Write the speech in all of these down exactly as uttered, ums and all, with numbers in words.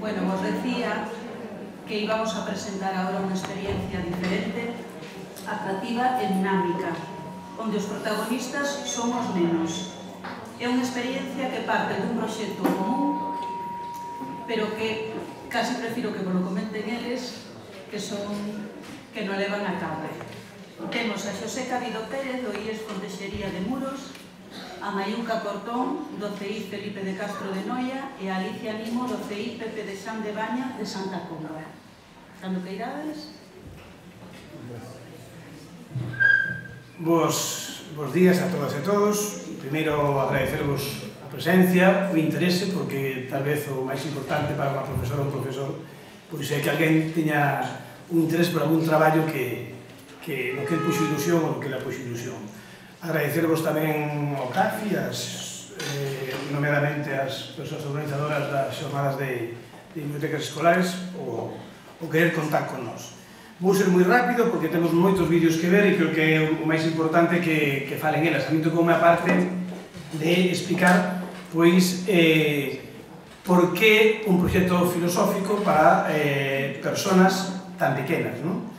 Bueno, vos decía que íbamos a presentar ahora unha experiencia diferente, atractiva e dinámica, onde os protagonistas son os nenos. É unha experiencia que parte dun proxecto común, pero que casi prefiro que vos lo comenten eles, que son que non levan a cabo. Temos a Xosé Cabido Pérez, do I E S Fontexería de Muros, a Mayuca Portón, do C I Felipe de Castro de Noia, e a Alicia Nimo, do C I Pepe de San de Baña, de Santa Comba. Cando que irades? Bos, bos días a todas e todos. Primeiro, agradecervos a presencia, o interese, porque tal vez o máis importante para unha profesora ou un profesor pois é que alguén teña un interés por algún traballo que, que no que el puxo ilusión ou no que la puxo ilusión. Agradecervos tamén ao C A F I, as, eh, nomeadamente as persoas organizadoras das xornadas de, de bibliotecas escolares, o, o querer contar con nós. Vou ser moi rápido porque temos moitos vídeos que ver e creo que é o máis importante que, que falen elas. A mí tocou unha parte de explicar pois eh, por que un proxecto filosófico para eh, personas tan pequenas, non?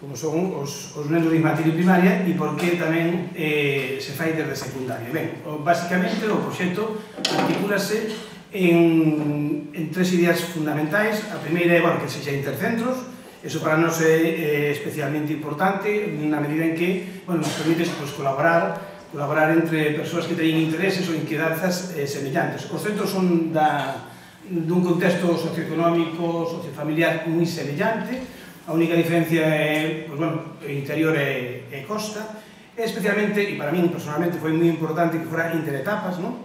Como son os, os nenos de infantil e primaria, e por que tamén eh, se fai desde secundaria. Ben, o, basicamente o proxecto articúlase en, en tres ideas fundamentais. A primeira é, bueno, que sexa intercentros. Eso para nós é eh, especialmente importante na medida en que, bueno, nos permite pues, colaborar, colaborar entre persoas que teñen intereses ou inquedanzas eh, semellantes. Os centros son da, dun contexto socioeconómico, sociofamiliar moi semellante. A única diferencia é, pues, bueno, interior e, e costa. E especialmente, e para min personalmente foi moi importante que fora interetapas, non?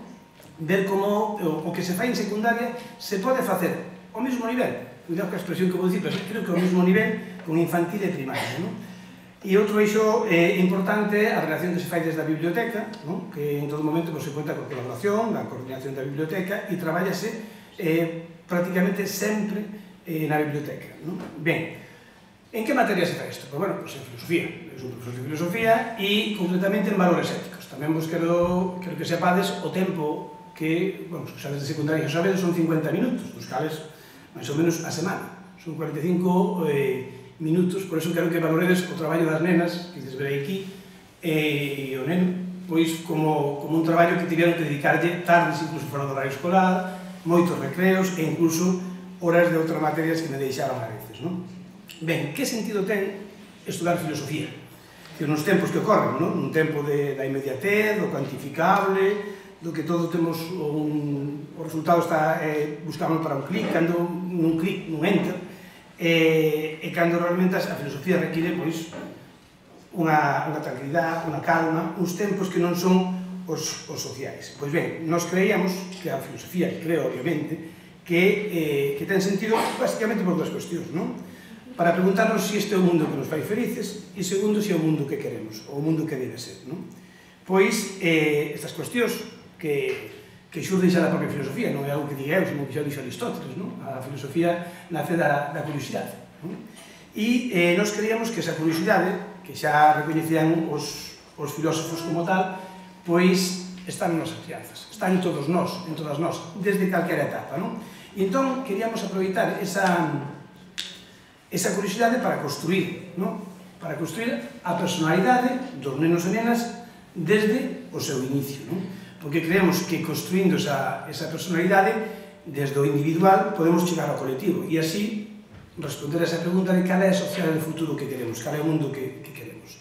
Ver como o, o que se fai en secundaria se pode facer ao mesmo nivel. Cuidado que a expresión que vou dicir, pero creo que ao mesmo nivel con infantil e primaria, non? E outro eixo eh, importante a relación que se fai desde a biblioteca, non? Que en todo momento pues, se conta con colaboración, da coordinación da biblioteca, e traballase eh, prácticamente sempre eh, na biblioteca, non? Ben, en que materia se fai isto? Pois, bueno, pues en filosofía. Eu sou un profesor de filosofía e concretamente en valores éticos. Tamén vos quero, quero que sepades o tempo que, bueno, os xaves de secundaria xa sabedes son cincuenta minutos, dos cales máis ou menos a semana. Son cuarenta e cinco eh, minutos, por eso quero que valoredes o traballo das nenas, que des verei aquí, e o neno, pois como, como un traballo que tiveron que dedicarlle tardes, incluso fora do horario escolar, moitos recreos e incluso horas de outras materias que me deixaban a veces, non? Ben, que sentido ten estudar filosofía? Que nos tempos que ocorren, non? Un tempo de, da inmediatez, do cuantificable, do que todo temos un, o resultado está eh, buscamos para un clic, cando nun clic, nun enter, e, e cando realmente a filosofía require pois unha, unha tranquilidade, unha calma, uns tempos que non son os, os sociais. Pois ben, nós creíamos que a filosofía, creo obviamente, que, eh, que ten sentido basicamente por dúas cuestións, non? Para preguntarnos se este é o mundo que nos fai felices e segundo, se é o mundo que queremos, ou o mundo que debe ser, non? Pois, eh, estas cuestións que, que xurden xa da propia filosofía, non é algo que diga eu, sino que xa dixo Aristóteles, non? A filosofía nace da, da curiosidade, non? E eh, nós creíamos que esa curiosidade, que xa recoñecían os, os filósofos como tal, pois están nas crianzas, están en todos nós, en todas nós, desde calquera etapa, non? E entón, queríamos aproveitar esa... esa curiosidade para construir, non? Para construir a personalidade dos nenos e nenas desde o seu inicio, non? Porque creemos que construindo esa, esa personalidade desde o individual podemos chegar ao colectivo e así responder a esa pregunta de cal é a sociedade do futuro que queremos, cal é o mundo que, que queremos.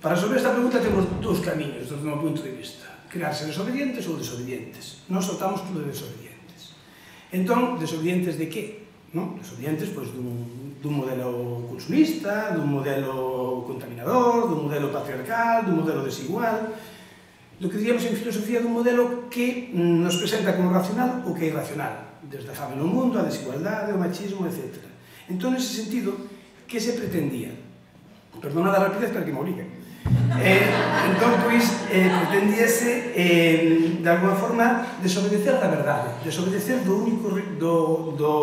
Para resolver esta pregunta temos dous camiños desde o meu punto de vista: crear seres obedientes ou desobedientes. Nós optamos por desobedientes. Entón, desobedientes de que? Non? Desobedientes pois, dun, dun modelo consumista, dun modelo contaminador, dun modelo patriarcal, dun modelo desigual, do que diríamos en filosofía dun modelo que nos presenta como racional o que é irracional, desde a fame no mundo, a desigualdade, o machismo, etcétera. Entón, nese sentido, que se pretendía? Perdona da rapidez, pero que me obliguen. Eh, entón, pois, eh, pretendíase, eh, de alguna forma, desobedecer da verdade, desobedecer do único, do, do,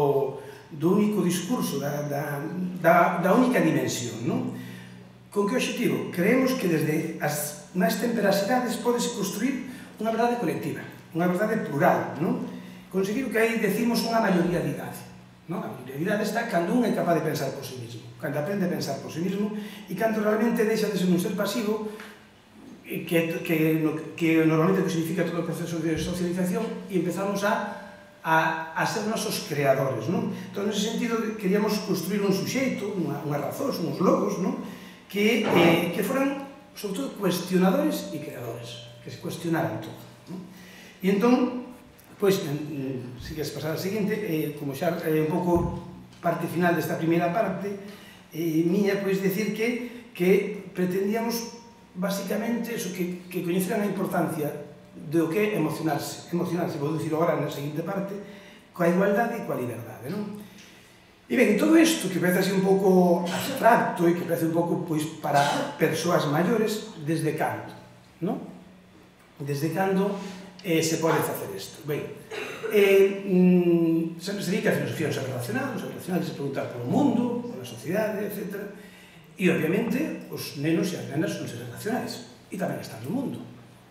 do único discurso, da, da, da, da única dimensión, non? Con que objetivo? Creemos que desde as máis temperas idades podese construir unha verdade colectiva, unha verdade plural, non? Conseguir o que aí decimos unha maioría de idade. A pluralidade está cando un é capaz de pensar por sí mismo, cando aprende a pensar por sí mismo e cando realmente deixa de ser un ser pasivo que normalmente significa todo o proceso de socialización e empezamos a ser nosos creadores. Entón, nese sentido, queríamos construir un suxeito, unha razón, uns logos, que foran, sobre todo, cuestionadores e creadores, que se cuestionaran todo. E entón, pois, se queres pasar a seguinte, como xa é un pouco parte final desta primeira parte, miña, pois, decir que pretendíamos, basicamente, que coñeceran a importancia do que é emocionarse, emocionarse, vou dicir agora na seguinte parte, coa igualdade e coa liberdade, non? E ben, todo isto que parece así un pouco abstracto e que parece un pouco, pois, para persoas maiores, desde cando, non? Desde cando se pode facer isto. Ben, sempre se di que a filosofía é un saber racional, un saber racional que se pregunta polo mundo, pola sociedade, etcétera. E, obviamente, os nenos e as nenas son seres racionais e tamén están no mundo.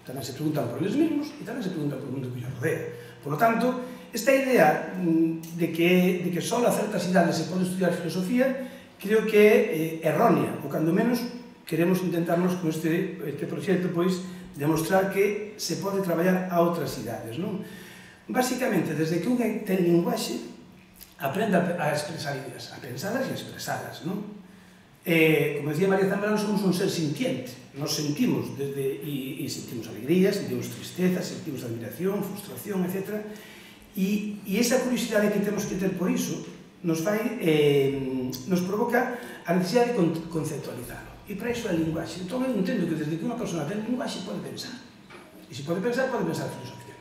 Tamén se preguntan por eles mesmos e tamén se preguntan por o mundo que os rodea. Por lo tanto, esta idea de que só a certas idades se pode estudiar filosofía creo que é errónea, ou cando menos queremos intentarnos con este proxecto, pois, demostrar que se pode traballar a outras idades, non? Basicamente, desde que un ten linguaxe, aprende a expresar ideas, a pensalas e a expresalas, non? Como decía María Zambrano, somos un ser sintiente, nos sentimos e sentimos alegría, sentimos tristeza, sentimos admiración, frustración, etcétera, e esa curiosidade que temos que ter por iso nos fai, nos provoca a necesidade de conceptualizar. E para iso é a linguaxe. Entón, eu entendo que desde que unha persona ten linguaxe pode pensar. E se pode pensar, pode pensar filosofía.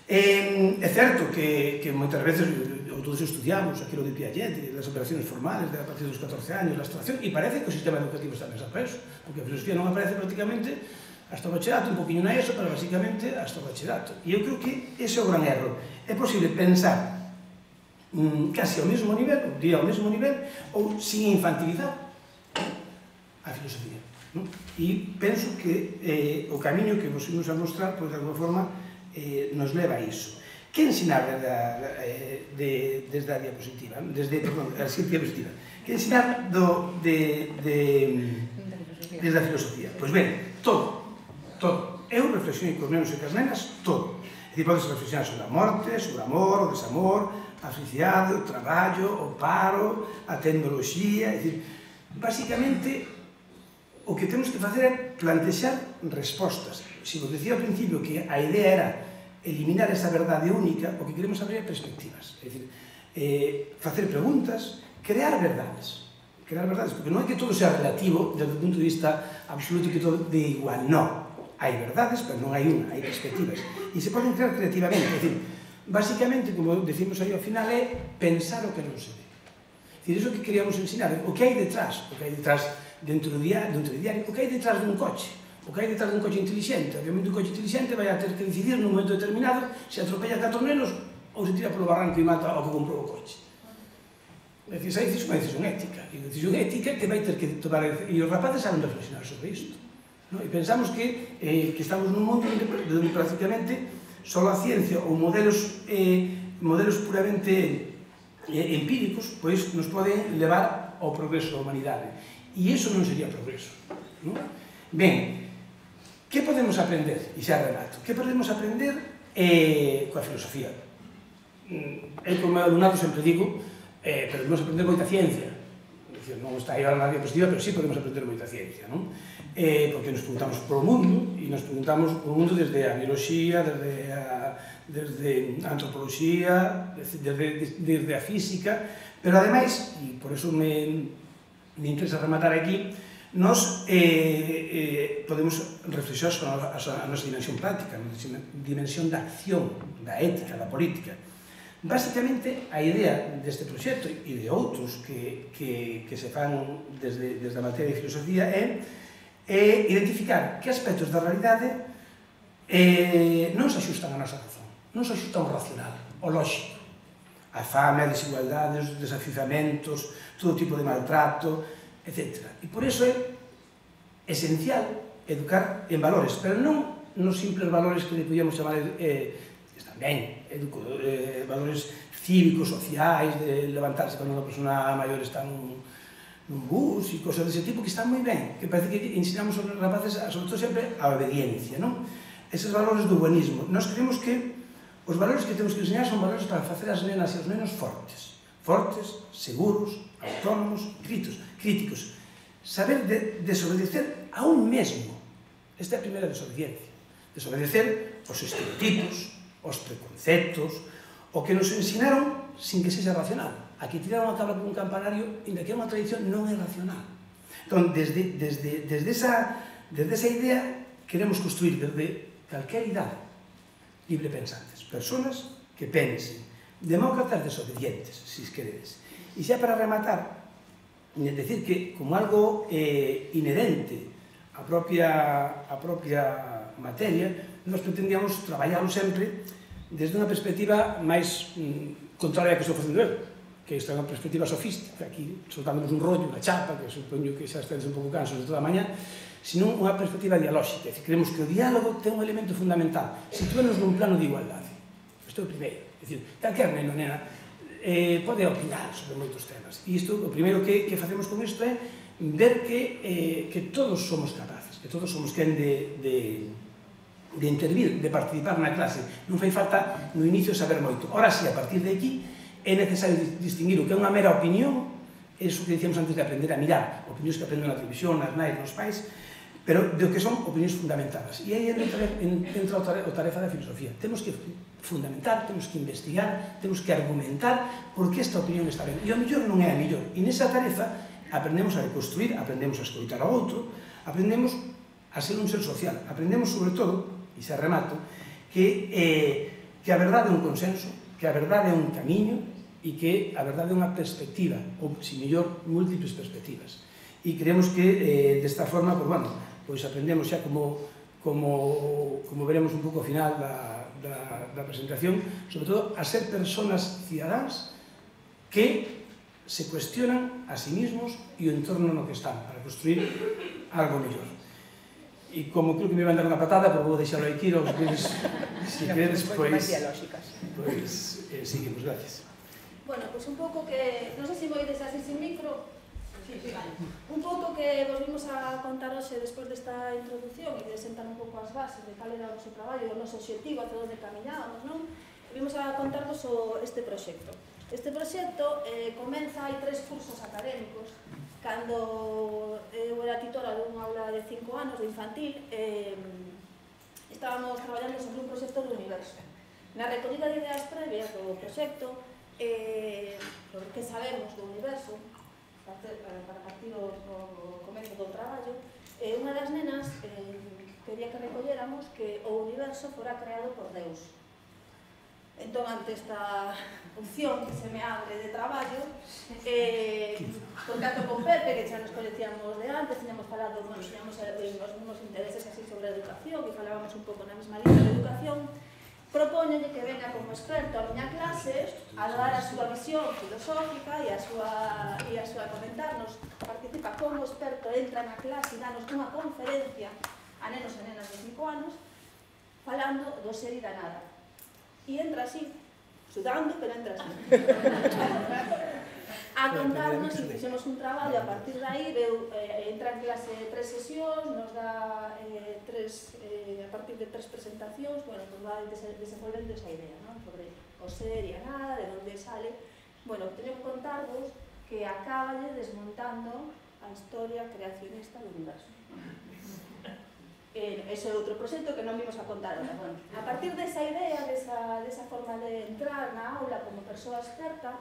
É certo que moitas veces todos estudiamos aquilo de Piaget, das operaciones formales a partir dos catorce anos, a abstracción, e parece que o sistema educativo está pensado para eso, porque a filosofía non aparece prácticamente hasta o bachillerato, un poquinho na ESO, pero basicamente hasta o bachillerato. E eu creo que ese é o gran erro. É posible pensar casi ao mesmo nivel, diría ao mesmo nivel, ou sin infantilizar a filosofía. E penso que o camiño que vos imos a mostrar, pois, de alguma forma, nos leva a iso. Que ensinar desde a diapositiva? Desde, perdón, a siguiente diapositiva. Que ensinar desde a filosofía? Pois ben, todo, todo. Eu reflexionei cos nenos e cas nenas, todo. É dicir, podes reflexionar sobre a morte, sobre o amor, o desamor, a felicidade, o traballo, o paro, a tecnoloxía, é dicir, basicamente, o que temos que facer é plantexar respostas. Se vos decía ao principio que a idea era eliminar esa verdade única, o que queremos abrir é perspectivas. É dicir, facer preguntas, crear verdades. Crear verdades, porque non é que todo sea relativo desde o punto de vista absoluto que todo de igual, non. Hai verdades, pero non hai unha, hai perspectivas. E se poden crear creativamente. É dicir, basicamente, como decimos aí ao final, é pensar o que non se ve. É dicir, iso que queríamos ensinar, o que hai detrás, o que hai detrás dentro do diario, o que hai detrás dun coche, o que hai detrás dun coche inteligente. Obviamente, un coche inteligente vai a ter que decidir nun momento determinado se atropella catro nenos ou se tira polo barranco e mata ao que comprou o coche. É dicir, esa é unha decisión ética. E a decisión ética que vai ter que tomar... E os rapaces saben reflexionar sobre isto. E pensamos que estamos nun mundo onde prácticamente só a ciencia ou modelos puramente empíricos nos poden levar ao progreso da humanidade. E iso non sería progreso. Ben, que podemos aprender? E xa relato. Que podemos aprender coa filosofía? Eu, como alumnado, sempre digo, pero podemos aprender moita ciencia. Non está aí ahora na diapositiva, pero sí podemos aprender moita ciencia, non? Porque nos preguntamos polo mundo, e nos preguntamos polo mundo desde a biología, desde a antropoloxía, desde a física, pero ademais, e por eso me interesa rematar aquí, nos podemos reflexionar sobre a nosa dimensión práctica, a nosa dimensión da acción, da ética, da política. Básicamente, a idea deste proxecto e de outros que se fan desde a materia de filosofía é identificar que aspectos da realidade non se axustan a nosa razón, non se axustan ao racional, ao lógico. A fame, a desigualdade, os desafiuzamentos, todo tipo de maltrato, etcétera. E por iso é esencial educar en valores, pero non nos simples valores que podíamos chamar tamén valores cívicos, sociais, de levantarse cando unha persona maior está nun, nun bus e cosas dese tipo que están moi ben, que parece que ensinamos aos rapaces, sobre todo sempre, a obediencia, non? Eses valores do buenismo. Nós creemos que os valores que temos que enseñar son valores para facer as nenas e os nenos fortes, fortes, seguros, autónomos, críticos, críticos. Saber de, desobedecer a un mesmo. Esta é a primeira desobediencia. Desobedecer os estereotipos, os preconceptos, o que nos ensinaron sin que sexa racional. Aquí tiraron a cabra con un campanario, inda que é unha tradición non é racional. Entón, desde, desde, desde, esa, desde esa idea, queremos construir desde calquer idade libre pensantes, personas que pensen, demócratas desobedientes, se queredes. E xa para rematar, decir que como algo eh, inherente a propia, a propia materia, nos pretendíamos traballarlo sempre desde unha perspectiva máis mm, contraria a que estou facendo eu, que esta é unha perspectiva sofística, aquí soltándonos un rollo, unha chapa, que supoño que xa estéis un pouco cansos de toda a mañá, sino unha perspectiva dialóxica. É dicir, creemos que o diálogo ten un elemento fundamental, situarnos nun plano de igualdade. Isto é o primeiro. É dicir, calquer neno, nena, eh, pode opinar sobre moitos temas. E isto, o primeiro que, que facemos con isto é ver que, eh, que todos somos capaces, que todos somos quen de, de, de intervir, de participar na clase. Non fai falta no inicio saber moito. Ora sí, a partir de aquí, é necesario distinguir o que é unha mera opinión, eso que dicíamos antes de aprender a mirar, opinións que aprenden na televisión, nas nais, nos pais, pero do que son opinións fundamentadas. E aí entra a tarefa da filosofía. Temos que fundamentar, temos que investigar, temos que argumentar por que esta opinión está ben. E o mellor non é a mellor. E nesa tarefa aprendemos a reconstruir, aprendemos a escoitar ao outro, aprendemos a ser un ser social. Aprendemos, sobre todo, e xa remato, que, eh, que a verdade é un consenso, que a verdade é un camiño e que a verdade é unha perspectiva, ou, se mellor, múltiples perspectivas. E creemos que, eh, desta forma, pues, bueno, pois aprendemos xa como, como, como veremos un pouco ao final da, da, da presentación, sobre todo a ser personas cidadáns que se cuestionan a sí mismos e o entorno no que están para construir algo mellor. E como creo que me van dar unha patada, pero vou deixarlo aquí, os que se queredes, pois, pois, eh, seguimos, gracias. Bueno, pois un pouco que, non sei se voides así sin micro, sí, sí, vale. Un pouco que vos vimos a contar hoxe despois desta introducción e de sentar un pouco as bases de cal era o noso traballo, o noso objetivo, hacia onde camiñábamos, non? Vimos a contarvos o, este proxecto. Este proxecto eh, comeza hai tres cursos académicos. Cando eu era titora dunha aula de cinco anos de infantil, eh, estábamos traballando sobre un proxecto do universo. Na recollida de ideas previas do proxecto, eh, sobre que sabemos do universo, para partir o, o comezo do traballo, eh, unha das nenas eh, quería que recolléramos que o universo fora creado por Deus. Entón, ante esta opción que se me abre de traballo, eh, contacto con Pepe, que xa nos coñecíamos de antes, teníamos falado, bueno, teníamos eh, os mesmos intereses así sobre a educación, que falábamos un pouco na mesma línea de educación, propóñolle que venga como experto a miña clase a dar a súa visión filosófica e a súa, e a súa comentarnos, participa como experto, entra na clase e danos unha conferencia a nenos e nenas de cinco anos falando do ser e da nada. E entra así, sudando, pero entra así. A contarnos, e fixemos un traballo, a partir de aí, veu, eh, entra en clase tres sesións, nos dá eh, tres, eh, a partir de tres presentacións, bueno, pues va desenvolvendo esa idea, ¿no? Sobre o ser e a nada, de onde sale. Bueno, teño que contarvos que acaballe desmontando a historia creacionista do universo. Eh, ese é outro proxecto que non vimos a contar ahora. Bueno, a partir desa idea, desa, desa forma de entrar na aula como persoa experta,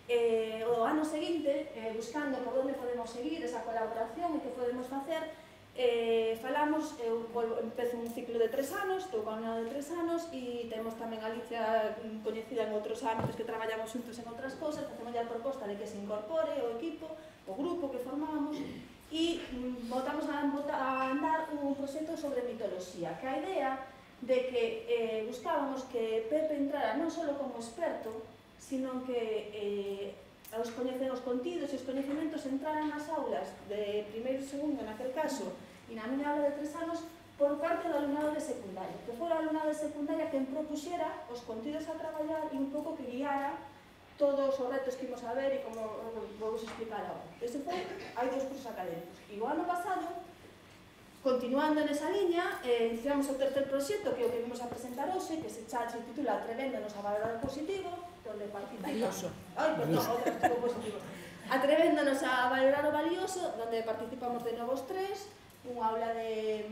eh, o ano seguinte, eh, buscando por onde podemos seguir esa colaboración e que podemos facer, eh, falamos, eu empezo un ciclo de tres anos, estou con un ano de tres anos, e temos tamén a Alicia coñecida en outros ámbitos que traballamos juntos en outras cosas, facemos a proposta de que se incorpore o equipo, o grupo que formamos, e botamos a andar un proxecto sobre mitoloxía, que a idea de que eh, buscábamos que Pepe entrara non só como experto, sino que eh, os, os contidos e os coñecementos entraran nas aulas de primeiro e segundo, naquel caso, e na miña aula de tres anos, por parte do alumnado de secundaria, que fora o alumnado de secundaria quen propuxera os contidos a traballar e un pouco que guiara todos os retos que imos a ver e como vou vos explicar agora. Ese foi, hai dous cursos académicos. E o ano pasado, continuando nesa liña, eh, iniciamos o tercer proxecto, que é o que vimos a presentar hoxe, que se, cha, se titula Atrevéndonos a valorar o positivo, onde participamos... Ai, perdón, outro adjetivo positivo. Atrevéndonos a valorar o valioso, onde participamos de novos tres, unha aula de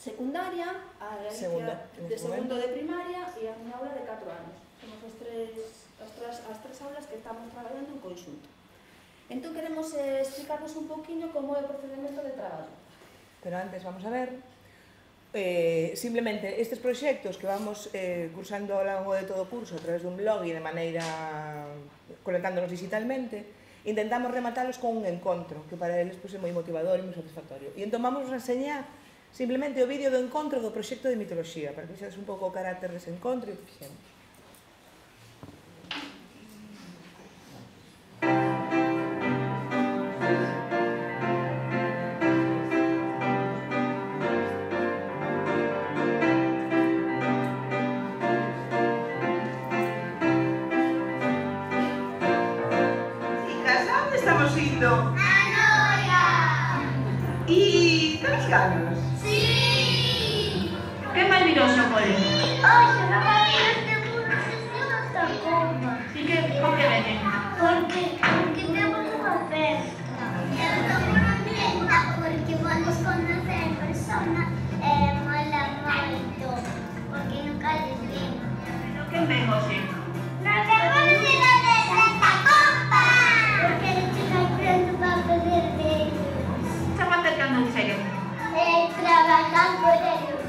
secundaria, a Segundo, de segundo de primaria e a unha aula de catro anos. Somos os tres, as, tres, as tres aulas que estamos traballando en conxunto. Entón queremos eh, explicarnos un poquinho como é o procedimento de traballo. Pero antes vamos a ver, eh, simplemente estes proxectos que vamos eh, cursando ao longo de todo o curso a través dun blog e de maneira conectándonos digitalmente, intentamos rematalos con un encontro, que para eles pues, é moi motivador e moi satisfactorio. E entón vamos a enseñar simplemente o vídeo do encontro do proxecto de mitoloxía, para que vexades un pouco o carácter dese encontro e o que fixemos. Estamos indo a Noia. E tedes ganas? Sí. Que mal virou o cole? Oxe, non vai vir este burro se se non está coma. E que, por que venen? Porque, porque temos unha festa. Eu estou contenta porque vamos conocer en persona e mola moito. Porque nunca les vimos. Pero que ven hoxe? Nos vemos de la de Santa Compa. Porque le estoy pronto para poder verlos. Estamos acercando un serio. Eh, trabajar por ellos.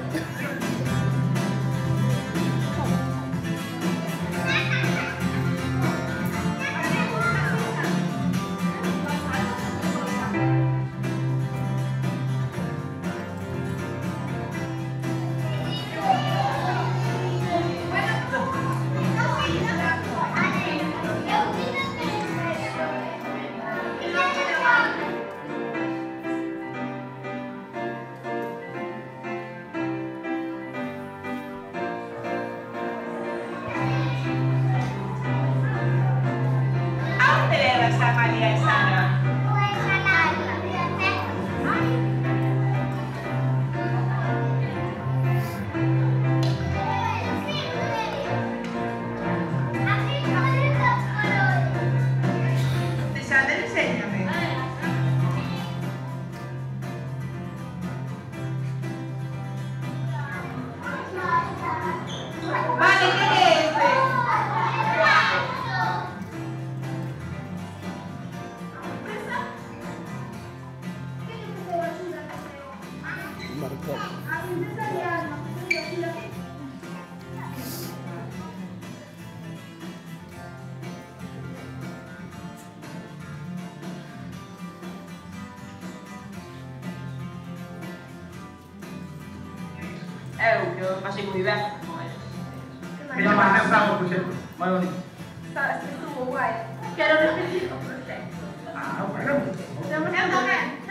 María e Sara? Pues a la biblioteca. Así podemos colores. Sara, enséñame. Vale, ¿qué es este? Eu, que eu pasei moi ben con eles. Que non máis pensamos, por exemplo, moi bonito. Sabes que estuvo guai. Quero repetir o proxecto. Ah, bueno. Eu tamén.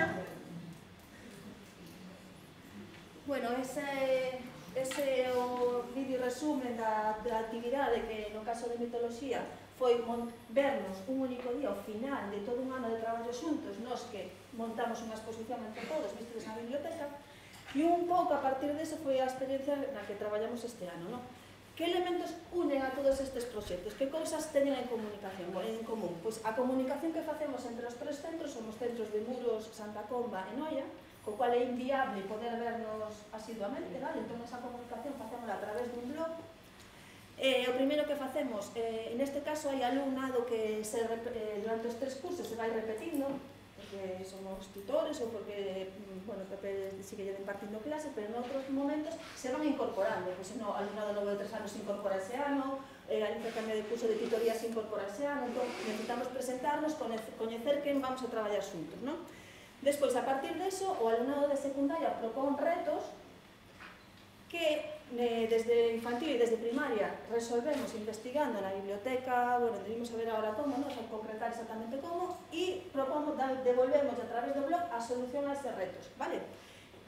Bueno, ese, ese é o vídeo resumen da, da actividade que no caso de mitoloxía foi vernos un único día ao final de todo un ano de traballo xuntos, nos que montamos unha exposición entre todos, vistes na biblioteca, e un pouco a partir deso foi a experiencia na que traballamos este ano, non? Que elementos unen a todos estes proxectos? Que cousas teñen en comunicación, en común? Pois a comunicación que facemos entre os tres centros son os centros de Muros, Santa Comba e Noia, co cual é inviable poder vernos asiduamente, vale? Entón esa comunicación facémola a través dun blog. Eh, o primeiro que facemos, eh, neste caso hai alumnado que se, eh, durante os tres cursos se vai repetindo, porque somos tutores ou porque, bueno, Pepe sigue impartindo clase, pero en outros momentos se van incorporando, pois no, alumnado novo de tres anos se incorpora ese ano, eh, a intercambio de curso de tutoría se incorpora ese ano, entón necesitamos presentarnos, coñecer quen vamos a traballar xuntos, non? Despois, a partir deso, o alumnado de secundaria propón retos que eh, desde infantil e desde primaria resolvemos investigando na biblioteca, bueno, debimos saber agora como, non? Son concretar exactamente como, e propomos, devolvemos a través do blog a solución a estes retos, vale?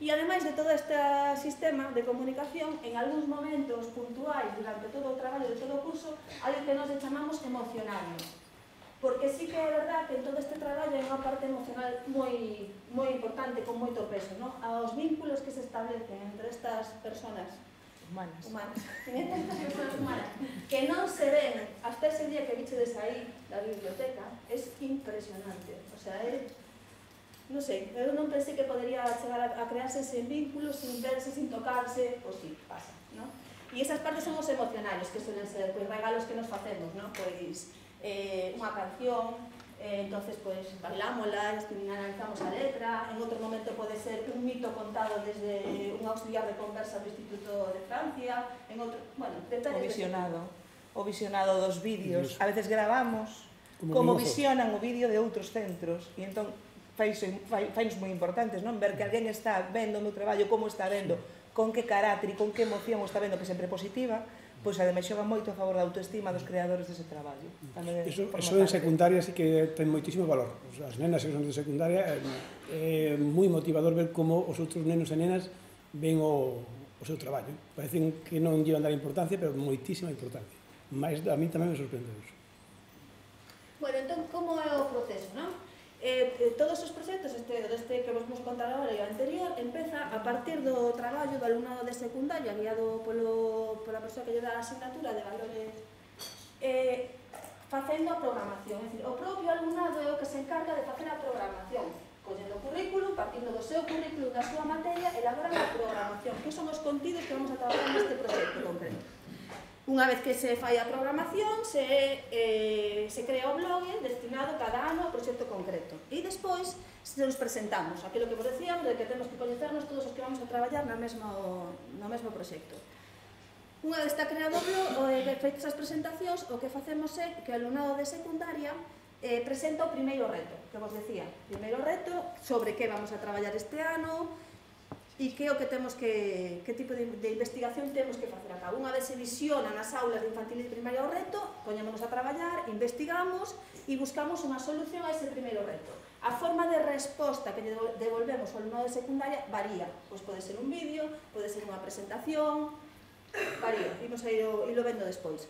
E ademais de todo este sistema de comunicación, en algúns momentos puntuais durante todo o traballo de todo o curso, hai o que nos chamamos emocionario. Porque sí que é verdad que en todo este traballo hai unha parte emocional moi, moi importante, con moito peso, ¿no? Aos vínculos que se establecen entre estas personas Humanas. humanas, entre estas personas humanas, que non se ven hasta ese día que vichedes aí da biblioteca, é impresionante. O sea, é... non sei, eu non pensei que podería chegar a crearse ese vínculo sin verse, sin tocarse, pois sí, pasa, non? E esas partes son os emocionales, que suelen ser pois, regalos que nos facemos, non? Pois eh, unha canción, eh, entonces pois bailámola, analizamos a letra, en outro momento pode ser un mito contado desde un auxiliar de conversa do Instituto de Francia, en outro, bueno, detalles... O visionado, o visionado dos vídeos, a veces gravamos como, como visionan o vídeo de outros centros, e entón fainos moi importantes, non? Ver que alguén está vendo o meu traballo, como está vendo, con que carácter e con que emoción o está vendo, que sempre é positiva, pois ademais xoga moito a favor da autoestima dos creadores dese traballo. Iso en secundaria sí que ten moitísimo valor. As nenas que son de secundaria é moi motivador ver como os outros nenos e nenas ven o, o seu traballo. Parecen que non llevan dar importancia, pero moitísima importancia. Mais a mí tamén me sorprende eso. Bueno, entón, como é o proceso, non? Eh, todos os proxectos, este, este que vos vamos contar agora e o anterior, empeza a partir do traballo do alumnado de secundaria guiado polo, pola persoa que lle dá a asignatura de valores eh, facendo a programación, é dicir, o propio alumnado é o que se encarga de facer a programación, collendo o currículum, partindo do seu currículum da súa materia, elaboran a programación, que son os contidos que vamos a trabalhar neste proxecto concreto. Unha vez que se fai a programación, se, eh, se crea o blog destinado cada ano ao proxecto concreto. E despois se nos presentamos, aquilo que vos decíamos, de que temos que coñecernos todos os que vamos a traballar no mesmo, no mesmo proxecto. Unha vez está creado o blog, e feitas as presentacións, o que facemos é que o alumnado de secundaria eh, presenta o primeiro reto, que vos decía. Primeiro reto sobre que vamos a traballar este ano, e que o que temos que, que tipo de, de investigación temos que facer a cabo. Unha vez se visiona nas aulas de infantil e de primaria o reto, poñémonos a traballar, investigamos e buscamos unha solución a ese primeiro reto. A forma de resposta que devolvemos ao alumnado de secundaria varía. Pois pode ser un vídeo, pode ser unha presentación, varía, imos a ir o, ilo vendo despois.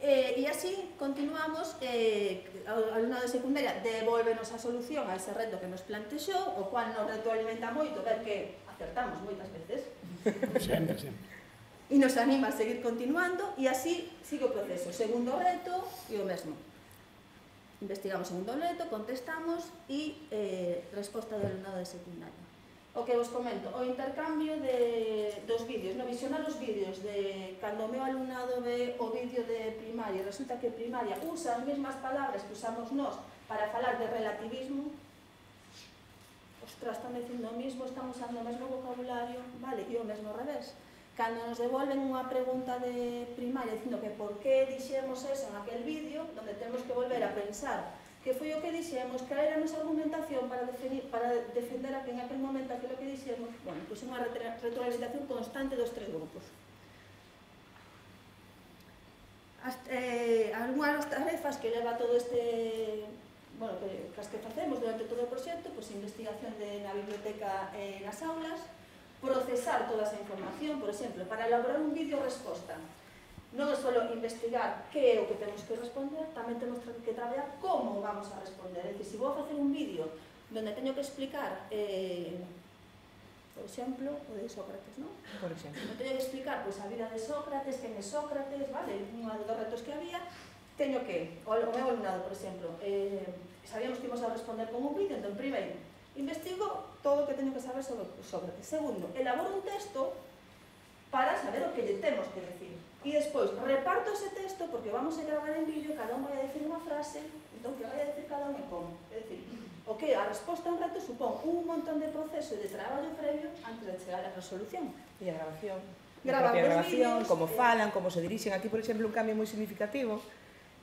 Eh, e así continuamos, eh, o alumnado de secundaria devolvenos a solución a ese reto que nos plantexou, o cual nos retroalimenta moito, ver que acertamos moitas veces. Sempre, sempre. E nos anima a seguir continuando, e así sigue o proceso. Segundo reto, e o mesmo. Investigamos segundo reto, contestamos, e eh, resposta do alumnado de secundaria. O que vos comento, o intercambio de, dos vídeos, no visionar os vídeos de cando o meu alumnado ve o vídeo de primaria, resulta que primaria usa as mesmas palabras que usamos nós para falar de relativismo, ostras, están dicindo o mismo, están usando o mesmo vocabulario, vale, e o mesmo ao revés. Cando nos devolven unha pregunta de primaria dicindo que por que dixemos eso en aquel vídeo, donde temos que volver a pensar que foi o que dixemos, que era a nosa argumentación para, definir, para defender que en aquel momento aquilo que dixemos, bueno, pois é unha retroalimentación constante dos tres grupos. As, eh, algunhas das tarefas que leva todo este, bueno, que, que as que facemos durante todo o proxecto, pois investigación de, na biblioteca e eh, nas aulas, procesar toda esa información, por exemplo, para elaborar un vídeo resposta. Non é só investigar que é o que temos que responder, tamén temos que traballar como vamos a responder. É dicir, se vou facer un vídeo onde teño que explicar, eh, por exemplo, o de Sócrates, non? Por exemplo. Non teño que explicar pois, a vida de Sócrates, quen é Sócrates, vale, un dos retos que había, teño que, o, o meu alumnado, por exemplo, eh, sabíamos que íbamos a responder con un vídeo, entón, primeiro, investigo todo o que teño que saber sobre Sócrates. Segundo, elaboro un texto para saber o que lle temos que decir. E despois, reparto ese texto, porque vamos a gravar en vídeo, cada un vai a decir unha frase, entón, que vai a decir cada un e como. É dicir, o que a resposta a un reto supón un montón de proceso e de traballo previo antes de chegar á resolución. E a grabación. Gravar a grabación, vídeos, como eh... falan, como se dirixen. Aquí, por exemplo, un cambio moi significativo,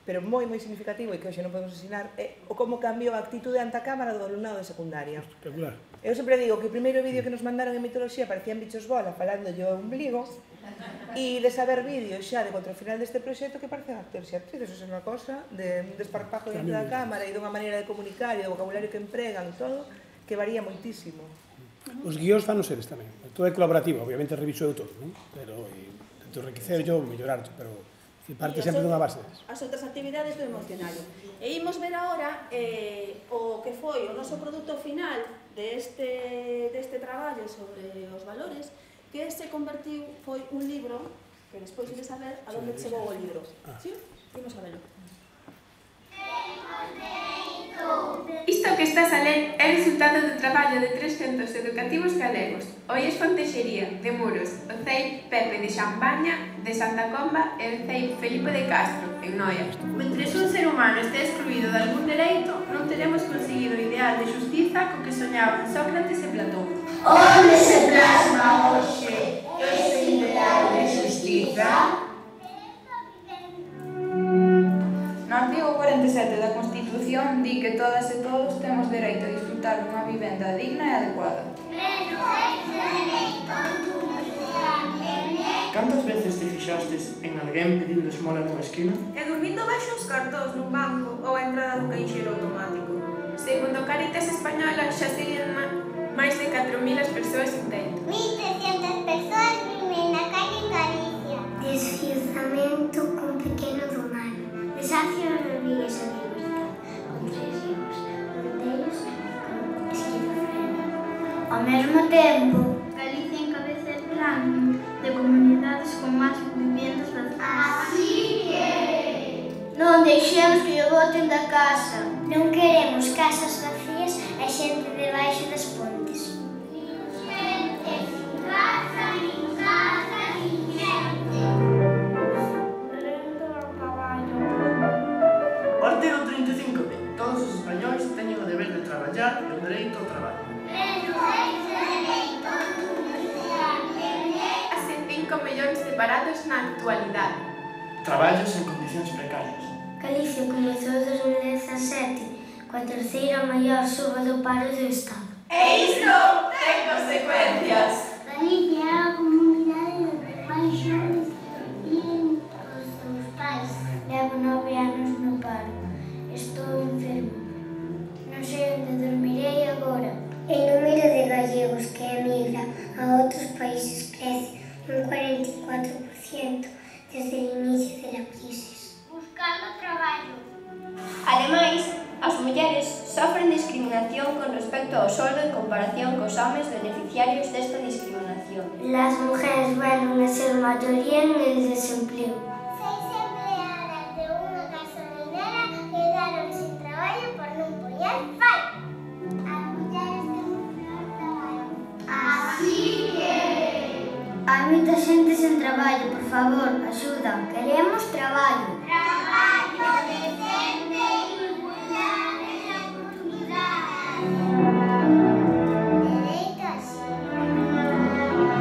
pero moi, moi significativo, e que hoxe non podemos ensinar, é o como cambiou a actitude ante a cámara do alumnado de secundaria. Espectacular. Eu sempre digo que o primeiro vídeo que nos mandaron en mitoloxía parecían bichos bola falando yo ombligo, e de saber vídeos xa de contra o final deste proxecto que parecen actores e actrices, eso é unha cosa de un desparpajo dentro da cámara e dunha maneira de comunicar e do vocabulario que empregan e todo, que varía moitísimo. Os guións fan os eles tamén. Todo é colaborativo, obviamente reviso eu todo, non? Pero tento enriquecer yo, mellorar, pero parte sempre dunha base. As outras actividades do emocionario. E imos ver agora eh, o que foi o noso produto final deste, deste traballo sobre os valores, que se convertiu, foi un libro, que despois ides a ver a donde chegou o libro. Sí? Imos a verlo. Isto que estás a ler é resultado do traballo de tres centros educativos galegos: o I E S Fontexería, de Muros, o C E I Pepe de Xambaña, de Santa Comba e o C E I Felipe de Castro, en Noia. Mentre un ser humano este excluído de algún dereito, non teremos conseguido o ideal de xustiza co que soñaban Sócrates e Platón. Onde se plasma hoxe ese ideal de xustiza? No artigo cuarenta e sete da Constitución di que todas e todos temos dereito a disfrutar dunha vivenda digna e adecuada. Cantas veces te fixastes en alguén pedindo esmola nunha esquina? E dormindo baixo os cartóns nun banco ou a entrada dun caixeiro automático. Segundo Caritas Española, xa serían máis de catro mil as persoas sin teito. mil trescientas persoas viven na calle en Galicia. Desfiuzamento cun pequeno do mar. Desafio Rodríguez a libertad, con tres hijos, un deles con esquizofrenia. Ao mesmo tempo, Galicia encabeza el plan de comunidades con máis viviendas vacías. Así que... non deixemos que o boten da casa. Non queremos casas vacías e xente debaixo das pontes. Xente sin casa, nin casa, nin xente. O artigo trinta e cinco di: todos os españois teñen o deber de traballar e o dereito ao traballo. Hace cinco millóns de parados na actualidade. Traballos en condicións precarias. Galicia comezou en dos mil dezasete coa terceira maior suba do paro do Estado. E isto ten consecuencias. Galicia é a comunidade máis xóvenes viven os seus pais. Levo nove anos no paro. Estou enfermo. Non sei onde dormirei agora. O número de gallegos que emigran a outros países crece un cuarenta e catro por ciento desde o inicio da crise. Buscando traballo. Ademais, as mulleres sofren discriminación con respecto ao soldo en comparación cos homes beneficiarios desta discriminación. Las mujeres vuelven a ser mayoría en el desempleo. Seis empleadas de unha gasolinera quedaron sin traballo por non poñer fai. As mulleres temos peor traballo. Así que... hai moita xente sen traballo, por favor, axuda. Queremos traballo. Traballo decente e igualdade de oportunidades. Dereito a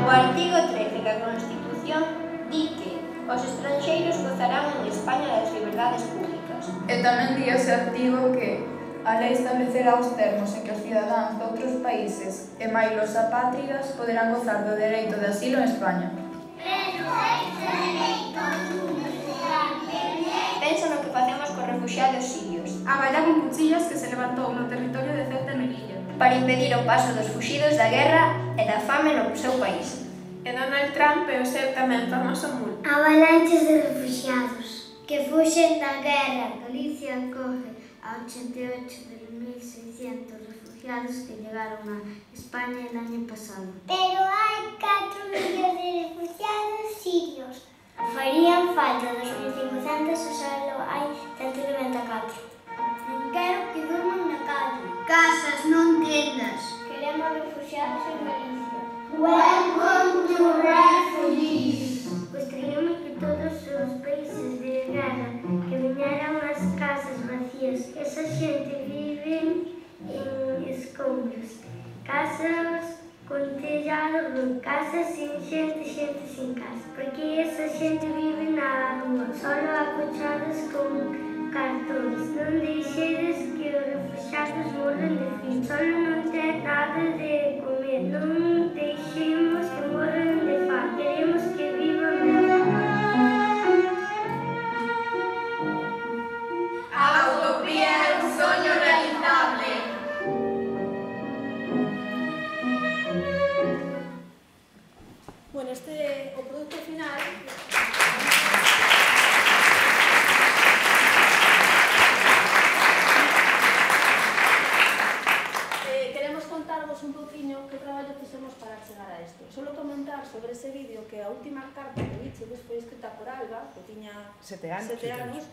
O artigo trece da Constitución di que os estranxeiros gozarán en España das liberdades públicas. E tamén di ese artigo que a lei establecerá os termos en que os cidadáns de outros países e mailos apátridas poderán gozar do dereito de asilo en España. Pensa no que facemos cos refuxiados sirios. A bala con cuchillas que se levantou no territorio de Ceuta e Melilla. Para impedir o paso dos fuxidos da guerra e da fame no seu país. E Donald Trump e o seu tamén famoso multa. Avalanches de refugiados que fuxen da guerra. Galicia acoge a ochenta e ocho de mil seiscientos refugiados que chegaron a España el año pasado. Pero hai catro millóns de refugiados sirios. Farían falta dos mil cincuentos, o solo hai ciento noventa e catro. Non quero que durman na calle. Casas, non tendas. Queremos refugiados en Galicia. Welcome to refugees. Gostaríamos que todos os países de guerra que viñeran as casas vacías. Esa xente vive en escombros. Casas con tellado, casas sin xente, xente sin casa. Porque esa xente vive na rúa, solo acochadas con cartóns. Non deixedes que os refugiados morran de frío. Solo non ten nada de comer. Non deixemos que morran de fame. Queremos que vivan mellor. A utopía é un soño realizable. contaros un poquinho que traballo fixemos para chegar a isto. Solo comentar sobre ese vídeo que a última carta que vichedes foi escrita por Alba, que tiña sete anos, sete anos,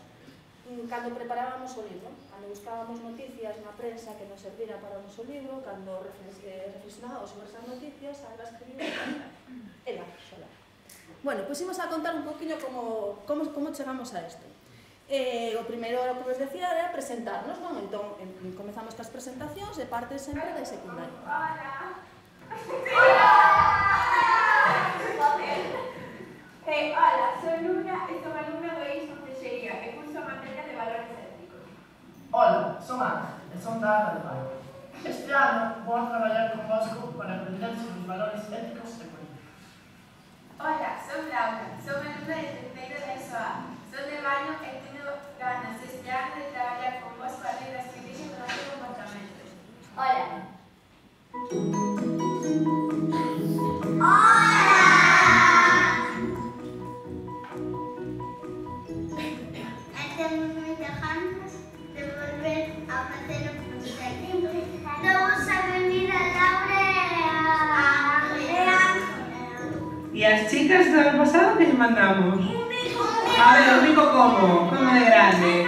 cando preparábamos o libro, cando buscábamos noticias na prensa que nos servira para o noso libro, cando reflexionábamos sobre esas noticias, Alba escribiu ela sola. Bueno, pois imos a contar un poquinho como, como, como chegamos a isto. Eh, o primeiro, o que vos decía, era presentarnos, non? Entón, en, comezamos cas presentacións e parte sempre de secundaria. Hola! Hola! Eh, hola, soy Luna e son alumna do I S Fontexería e curso a materia de valores éticos. Hola, son Ana e son da Ana de Pai. Este ano vou a traballar con vosco para aprender sobre os valores éticos e políticos. Hola, son Laura, son alumna de terceiro de E S O A. Son de baño e teño ganas este ano de traballar con vos para ler as que dixen dos meus comportamentos. Hola. Temos moitas ganas de volver a facer o proxecto. Damos a benvida a Laura e a Andrea. E as chicas do ano pasado que lle mandamos? A ver, o rico como? Como de grande?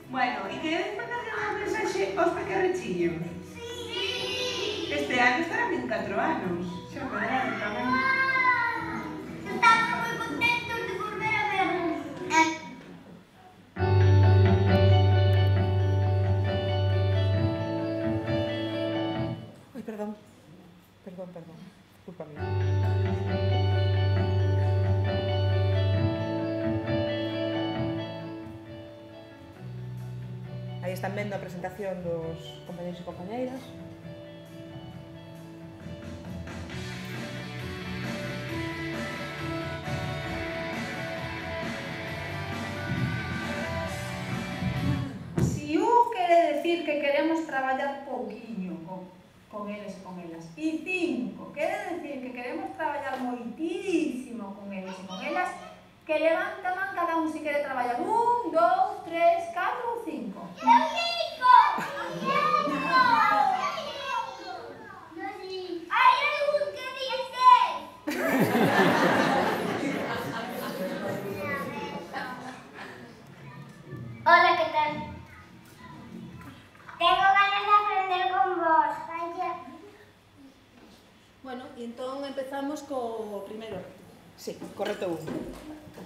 Bueno, e queredes mandarle un mensaxe aos pequerrechillos? Sí! Este ano estarán vinte e catro anos. Xa verán tamén. Estamos moi contentos de volver a vernos. Ai, perdón. Perdón, perdón. Culpa mía. Aí están vendo a presentación dos compañeros e compañeiras. Si U quere decir que queremos traballar pouquiño con, con eles e con elas, e cinco quere decir que queremos traballar moitísimo con eles e con elas, que levanta man cada un si quere traballar un, dous, tres, catro ou cinco. Eu cinco! Cinco! Hai algún que diga seis! Hola, que tal? Tengo ganas de aprender con vos. Vaya. Bueno, e entón empezamos co primeiro reto. Sí, correcto un.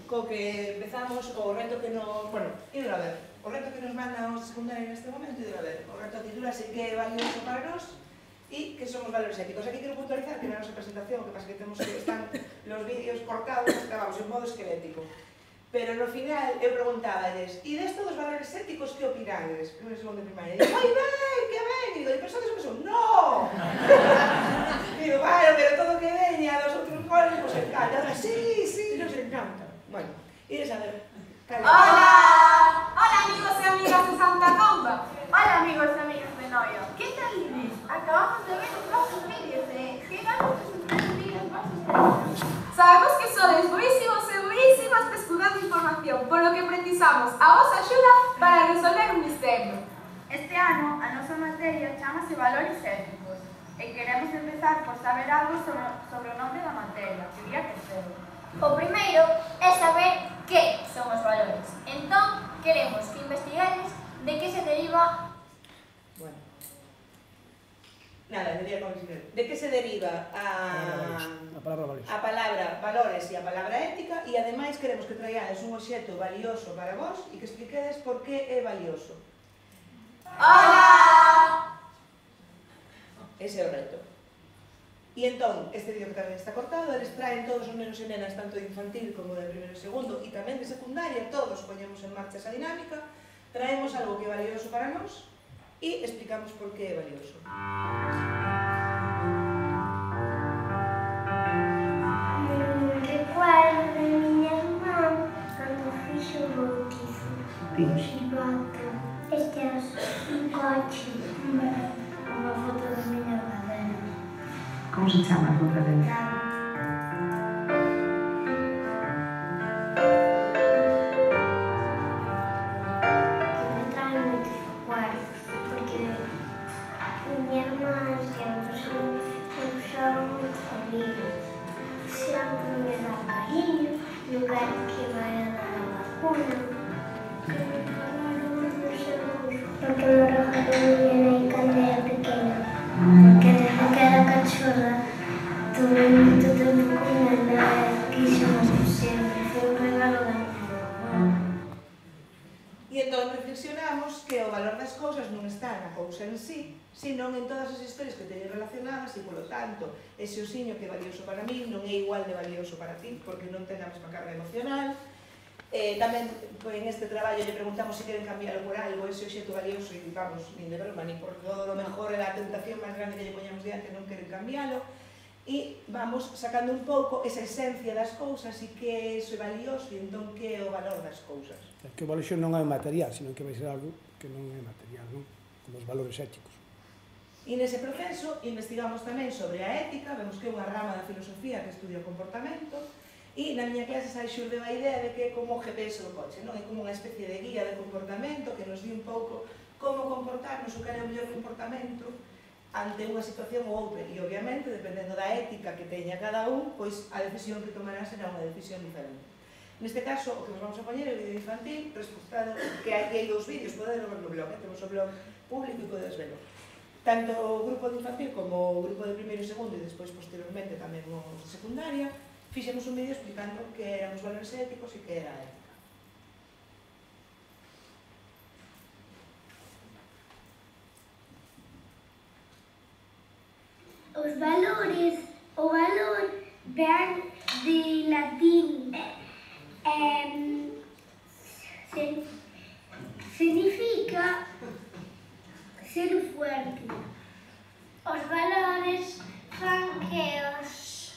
Co que empezamos o reto que nos... Bueno, ir a ver. O reto que nos manda os secundarios neste momento, ir a ver. O reto titula así que é valioso para nós e que son os valores éticos. Aquí quero puntualizar que na nosa presentación, que pasa que temos que están los vídeos cortados, grabamos en modo esquelético. Pero no final eu preguntáballes, e desto dos valores éticos que opinades? Primeiro, segundo e primaria. E digo, ai, ben, que ben! E digo, e pensades o que son? No! Digo, bueno, pero todo que veña dos outros goles nos encanta. Ahora, sí, sí, nos encanta. Bueno, ides a ver. Hola! Hola amigos e amigas de Santa Comba. Hola amigos e amigas de Noia. Que tal ides? Acabamos de ver os vosos vídeos e que ganas de suscribir os vosos vídeos. Sabemos que sodes buísimos e buísimas pescudando información, por lo que precisamos a vosa axuda para resolver un misterio. Este ano, a nosa materia chamase Valores Éticos e queremos empezar por saber algo sobre, sobre o nome da materia, que diría que ser. O primeiro é saber que son os valores. Entón, queremos que investiguedes de que se deriva... Bueno. Nada, debería conseguir. De que se deriva a... A palabra valores. A palabra valores e a palabra ética e ademais queremos que traigades un obxecto valioso para vos e que expliquedes por que é valioso. Hola! Ese é o reto. E entón, este vídeo que tamén está cortado, eles traen todos os nenos e nenas, tanto de infantil como de primeiro e segundo, e tamén de secundaria, todos poñemos en marcha esa dinámica, traemos algo que é valioso para nós e explicamos por que é valioso. Recuerdo de miña irmán cando fixo o bautizo. Un xibato. Este é un coche. Unha foto da miña cadena. Como se chama a tua cadena? Porque me regalou mi nai cando era pequena. Porque desde que era cachorra tuve moito tempo con ela e quixemos sempre. Foi un regalo da E entón reflexionamos que o valor das cousas non está na cousa en sí, senón en todas as historias que teñen relacionadas e, polo tanto, ese osiño que é valioso para mí non é igual de valioso para ti, porque non ten a mesma carga emocional. Eh, tamén, en este traballo, lle preguntamos se queren cambiarlo por algo, ese obxecto valioso, e vamos, nin de broma, nin por todo lo mejor, era a tentación máis grande que lle poñamos diante, non queren cambiarlo, e vamos sacando un pouco esa esencia das cousas e que iso é valioso e entón que é o valor das cousas. Que o valor non é material, senón que vai ser algo que non é material, non? Como os valores éticos. E nese proceso investigamos tamén sobre a ética, vemos que é unha rama da filosofía que estudia o comportamento, e na miña clase sai xurdeu a idea de que é como o G P S do coche, non? É como unha especie de guía de comportamento que nos di un pouco como comportarnos o que é o mellor comportamento ante unha situación ou outra, e obviamente, dependendo da ética que teña cada un, pois a decisión que tomará será unha decisión diferente. Neste caso, o que nos vamos a poñer é o vídeo infantil, resultado que hai, hai dous vídeos, podedes ver no blog, eh? Temos o blog público e podedes verlo. Tanto o grupo de infantil como o grupo de primeiro e segundo, e despois, posteriormente, tamén os de secundaria, fixemos un vídeo explicando que eran os valores éticos e que era a ética. Os valores, o valor ven de latín, eh, se, significa ser fuerte. Os valores fan que os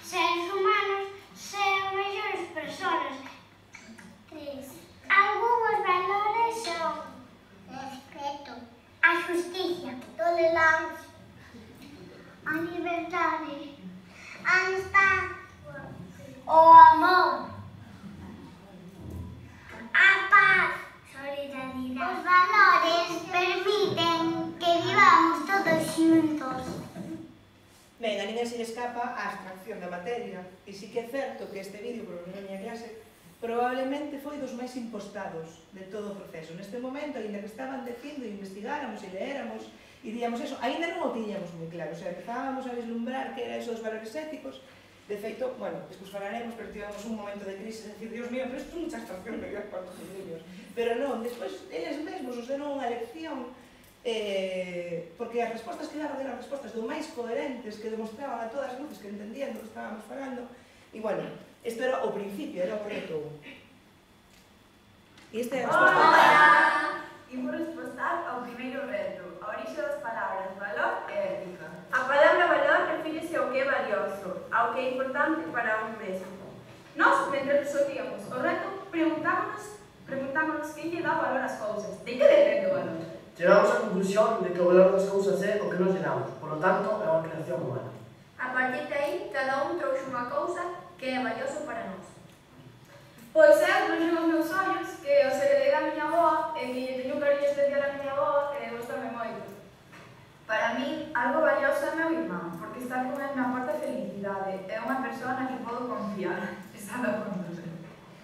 seres humanos sean mellores persoas. Tres. Algunos valores son respeto, a justicia, tolerancia, a liberdade, a amistade, o amor, a paz, solidaridade. Os valores permiten que vivamos todos xuntos. Ben, a ninguén se lle escapa a abstracción da materia, e sí que é certo que este vídeo, por na miña clase, probablemente foi dos máis impostados de todo o proceso. Neste momento, ainda que estaban dicindo e investigáramos e leéramos, e díamos eso, ainda non o tiñamos moi claro, o sea, empezábamos a vislumbrar que era eso dos valores éticos. De feito, bueno, despois falaremos, pero tivemos un momento de crisis, de decir, Dios mío, pero isto é mucha abstracción de para os niños. Pero non, despois, eles mesmos os deron unha lección, eh, porque as respostas que daban eran respostas do máis coherentes, que demostraban a todas as luces que entendían do que estábamos falando, e, bueno, isto era o principio, era o reto. E esta é a resposta. Hola! Imos responder ao primeiro reto, a orixe das palabras valor e ética. A palabra valor refírese ao que é valioso, ao que é importante para un mesmo. Nós, mentre resolvíamos o reto, preguntámonos, preguntámonos que lle dá valor ás cousas. De que depende o valor? Chegamos á conclusión de que o valor das cousas é o que nos lle damos, polo tanto, é unha creación humana. A partir de aí, cada un trouxe unha cousa que é valioso para nós. Pois é, trouxe os meus ollos, que os heredei da miña avoa, e que lle teño un cariño especial a miña avoa, e gostame moito. Para mí, algo valioso é meu irmán, porque estar con ele me aporta felicidade, é unha persoa na que podo confiar. Está da conta.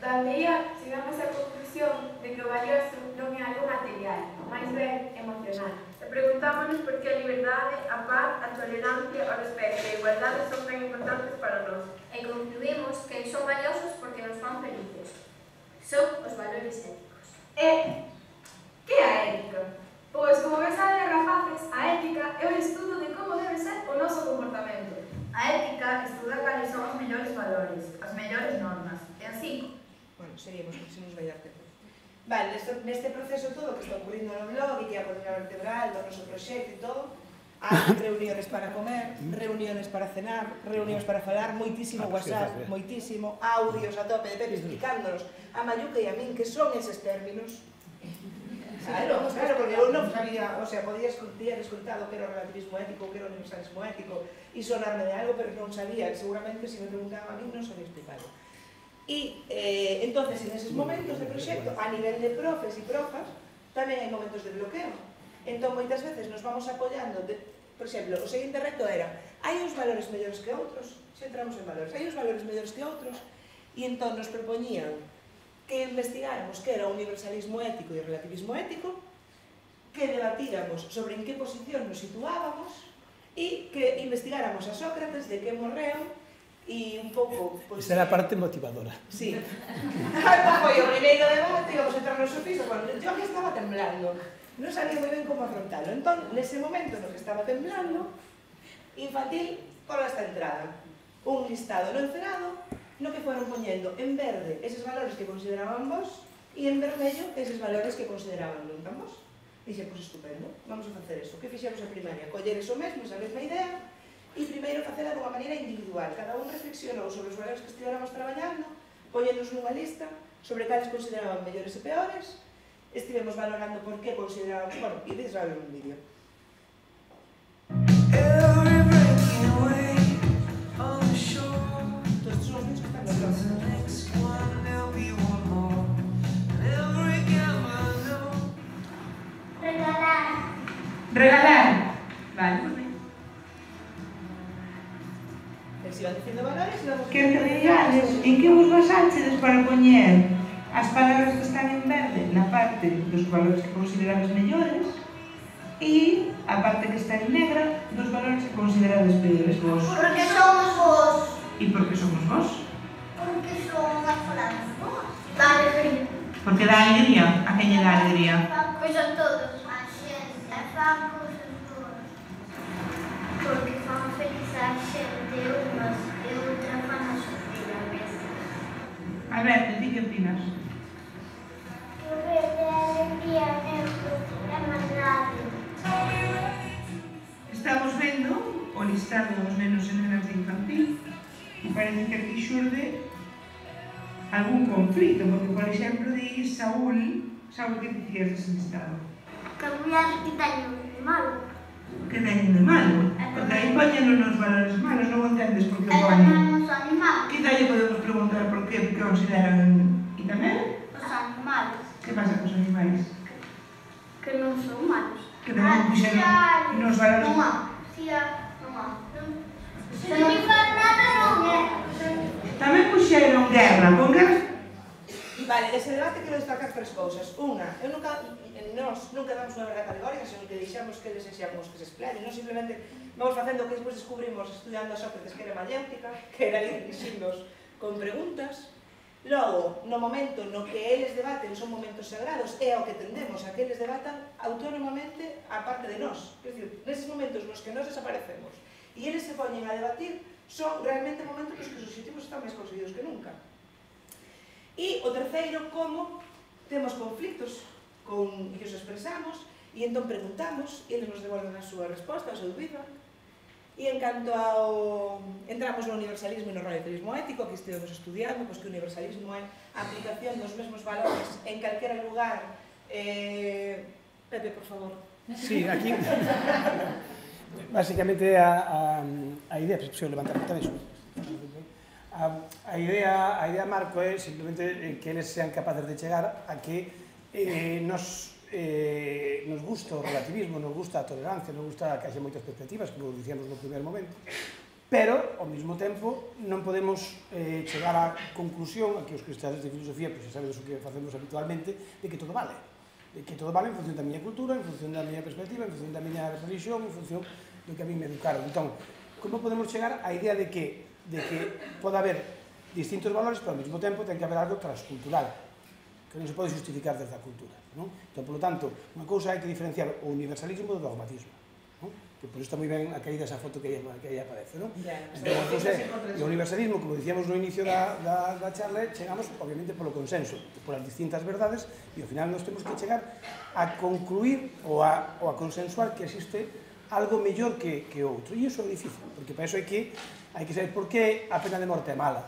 Daí chegamos á conclusión de que o valioso non é algo material, máis ben emocional. E preguntámonos por que a liberdade, a paz, a tolerancia, o respeto e a igualdade son tan importantes para nós. E concluímos que son valiosos porque nos fan felices. Son os valores éticos. E que é a ética? Pois, como ves a rapaces, a ética é o estudo de como debe ser o noso comportamento. A ética estuda cales son os mellores valores, as mellores normas, e así. Bueno, seríamos que se nos vai dar tempo. Vale, neste, neste proceso todo que está ocurrindo no blog e que é a columna vertebral do noso proxecto e todo, hai reuniones para comer, reuniones para cenar, reuniones para falar, moitísimo WhatsApp, moitísimo, audios a tope de Pepe explicándonos a Mayuca e a min que son eses términos. Claro, claro, porque eu non sabía, o sea, podía escutar, escutado que era o relativismo ético, que era o universalismo ético, e sonarme de algo, pero non sabía, seguramente se me preguntaba a mí non sabía explicarlo. E, eh, entonces, en eses momentos de proxecto, a nivel de profes e profas, tamén hai momentos de bloqueo. Entón, moitas veces nos vamos apoiando, de, por exemplo, o seguinte reto era, hai uns valores mellores que outros, se entramos en valores, hai uns valores mellores que outros, e entón nos propoñían que investigáramos que era o universalismo ético e o relativismo ético, que debatíramos sobre en que posición nos situábamos e que investigáramos a Sócrates de que morreu e un pouco... Esa era a parte motivadora. Sí. Foi o primeiro debate, íbamos a entrar no sofismo, bueno, yo que estaba temblando, non sabía moi ben como afrontalo. Entón, nese momento no que estaba temblando, infantil, cola esta entrada. Un listado no encerado, no que foron poñendo en verde eses valores que consideraban vos e en vermello eses valores que consideraban non tan vos. Dixe, pois estupendo, vamos a facer eso. Que fixemos en primaria? Coller eso mesmo, esa mesma idea, e primeiro facela dunha maneira individual. Cada un reflexionou sobre os valores que estivéramos traballando, poñenos nunha lista sobre cales consideraban mellores e peores, estivemos valorando por que considerábamos... Bueno, e vedes a ver un vídeo. Todos estos son os vídeos que están nos Regalar. Regalar. Vale, moi ben. Se iban dicindo valores e vamos... Que regales, en que vos basáchedes para poñer as palabras que están en verde na parte dos valores que considerades mellores e a parte que está en negra dos valores que considerades peores vos? Porque somos vos. E por que somos vos? Porque somos as palabras vos. Da alegría. Porque dá alegría. A quen lle dá alegría? Pois a todos. A xente. E fan cousas boas. Porque fan feliz a xente unhas e outra fan a sufrir a veces. Alberto, ti que opinas? Que o verde é alegría, neutro, é maldade. Estamos vendo o listado dos nenos e nenas de infantil e parece que aquí xurde algún conflito, porque, por exemplo, di Saúl, Saúl, que dicías dese listado? Que a muller que teño de malo. Que teñen de malo? Porque aí poñen nos valores malos, non entendes por que E poñen. tamén os animales. Quizá lle podemos preguntar por que consideran... E tamén? Os animales. Que pasa cos animais? Que non son malos. Que tamén puxeron nos valores... Non há. Si há, non há. Se non faz nada, non é. Tamén puxeron guerra, con guerra... Vale, dese debate quero destacar tres cousas. Unha, eu nunca, nos nunca damos unha verdade categórica, senón que deixamos que eles sexamos que se explayen, non simplemente vamos facendo o que despois descubrimos estudiando a Sócrates que era mayéutica, que era ir dixindos con preguntas. Logo, no momento no que eles debaten son momentos sagrados, é ao que tendemos a que eles debatan autónomamente a parte de nós. Quer dizer, neses momentos nos que nós desaparecemos e eles se poñen a debatir, son realmente momentos nos que os objetivos están máis conseguidos que nunca. E o terceiro, como temos conflictos con que os expresamos e entón preguntamos e eles nos devolven a súa resposta, a súa dúbida. E en canto ao... entramos no universalismo e no relativismo ético, que estivemos estudiando, pois que o universalismo é a aplicación dos mesmos valores en calquera lugar. Eh... Pepe, por favor. Sí, aquí... Básicamente a, a, a idea, se levantar tamén iso. A, a idea, a idea marco é simplemente que eles sean capaces de chegar a que eh, nos, eh, nos gusta o relativismo, nos gusta a tolerancia, nos gusta que haxe moitas perspectivas, como dicíamos no primer momento, pero, ao mesmo tempo, non podemos eh, chegar á conclusión, a que os cristianos de filosofía, pois xa sabedes o que facemos habitualmente, de que todo vale. De que todo vale en función da miña cultura, en función da miña perspectiva, en función da miña religión, en función do que a mí me educaron. Entón, como podemos chegar á idea de que de que pode haber distintos valores, pero ao mesmo tempo ten que haber algo transcultural, que non se pode justificar desde a cultura, non? Entón, polo tanto, unha cousa hai que diferenciar o universalismo do dogmatismo, non? Que por isto está moi ben a caída esa foto que aí, que aí aparece, non? Entón, o universalismo, como dicíamos no inicio da, da, da charla, chegamos, obviamente, polo consenso, polas distintas verdades, e ao final nos temos que chegar a concluir ou a, ou a consensuar que existe algo mellor que, que outro, e iso é difícil, porque para iso hai que hai que saber por que a pena de morte é mala,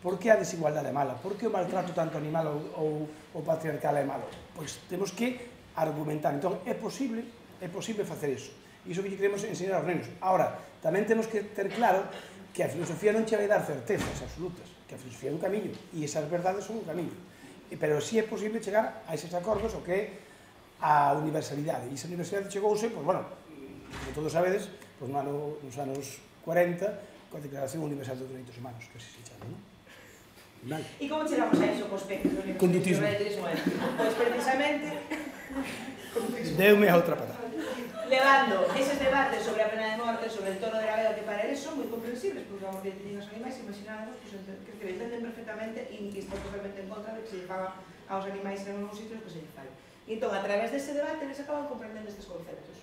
por que a desigualdade é mala, por que o maltrato tanto animal ou, ou, ou patriarcal é malo. Pois temos que argumentar. Entón, é posible, é posible facer iso. Iso que queremos enseñar aos nenos. Ahora, tamén temos que ter claro que a filosofía non che vai dar certezas absolutas, que a filosofía é un camiño, e esas verdades son un camiño. Pero si sí é posible chegar a eses acordos o que é a universalidade. E esa universalidade chegouse, pois, bueno, como todos sabedes, pois, no ano, nos anos cuarenta, coa Declaración Universal dos Dereitos Humanos, que así se chama, non? E como chegamos a iso cos peques? Condutismo. Pois precisamente... Deume a outra pata. Levando eses debates sobre a pena de morte, sobre el tono de la vega, que para eles son moi comprensibles, porque vamos que teñen os animais, imaginamos que, que, que entenden perfectamente e que están totalmente en contra de que se lle faga aos animais en algunos sitios que se lle fai. E entón, a través dese debate, eles acaban comprendendo estes conceptos.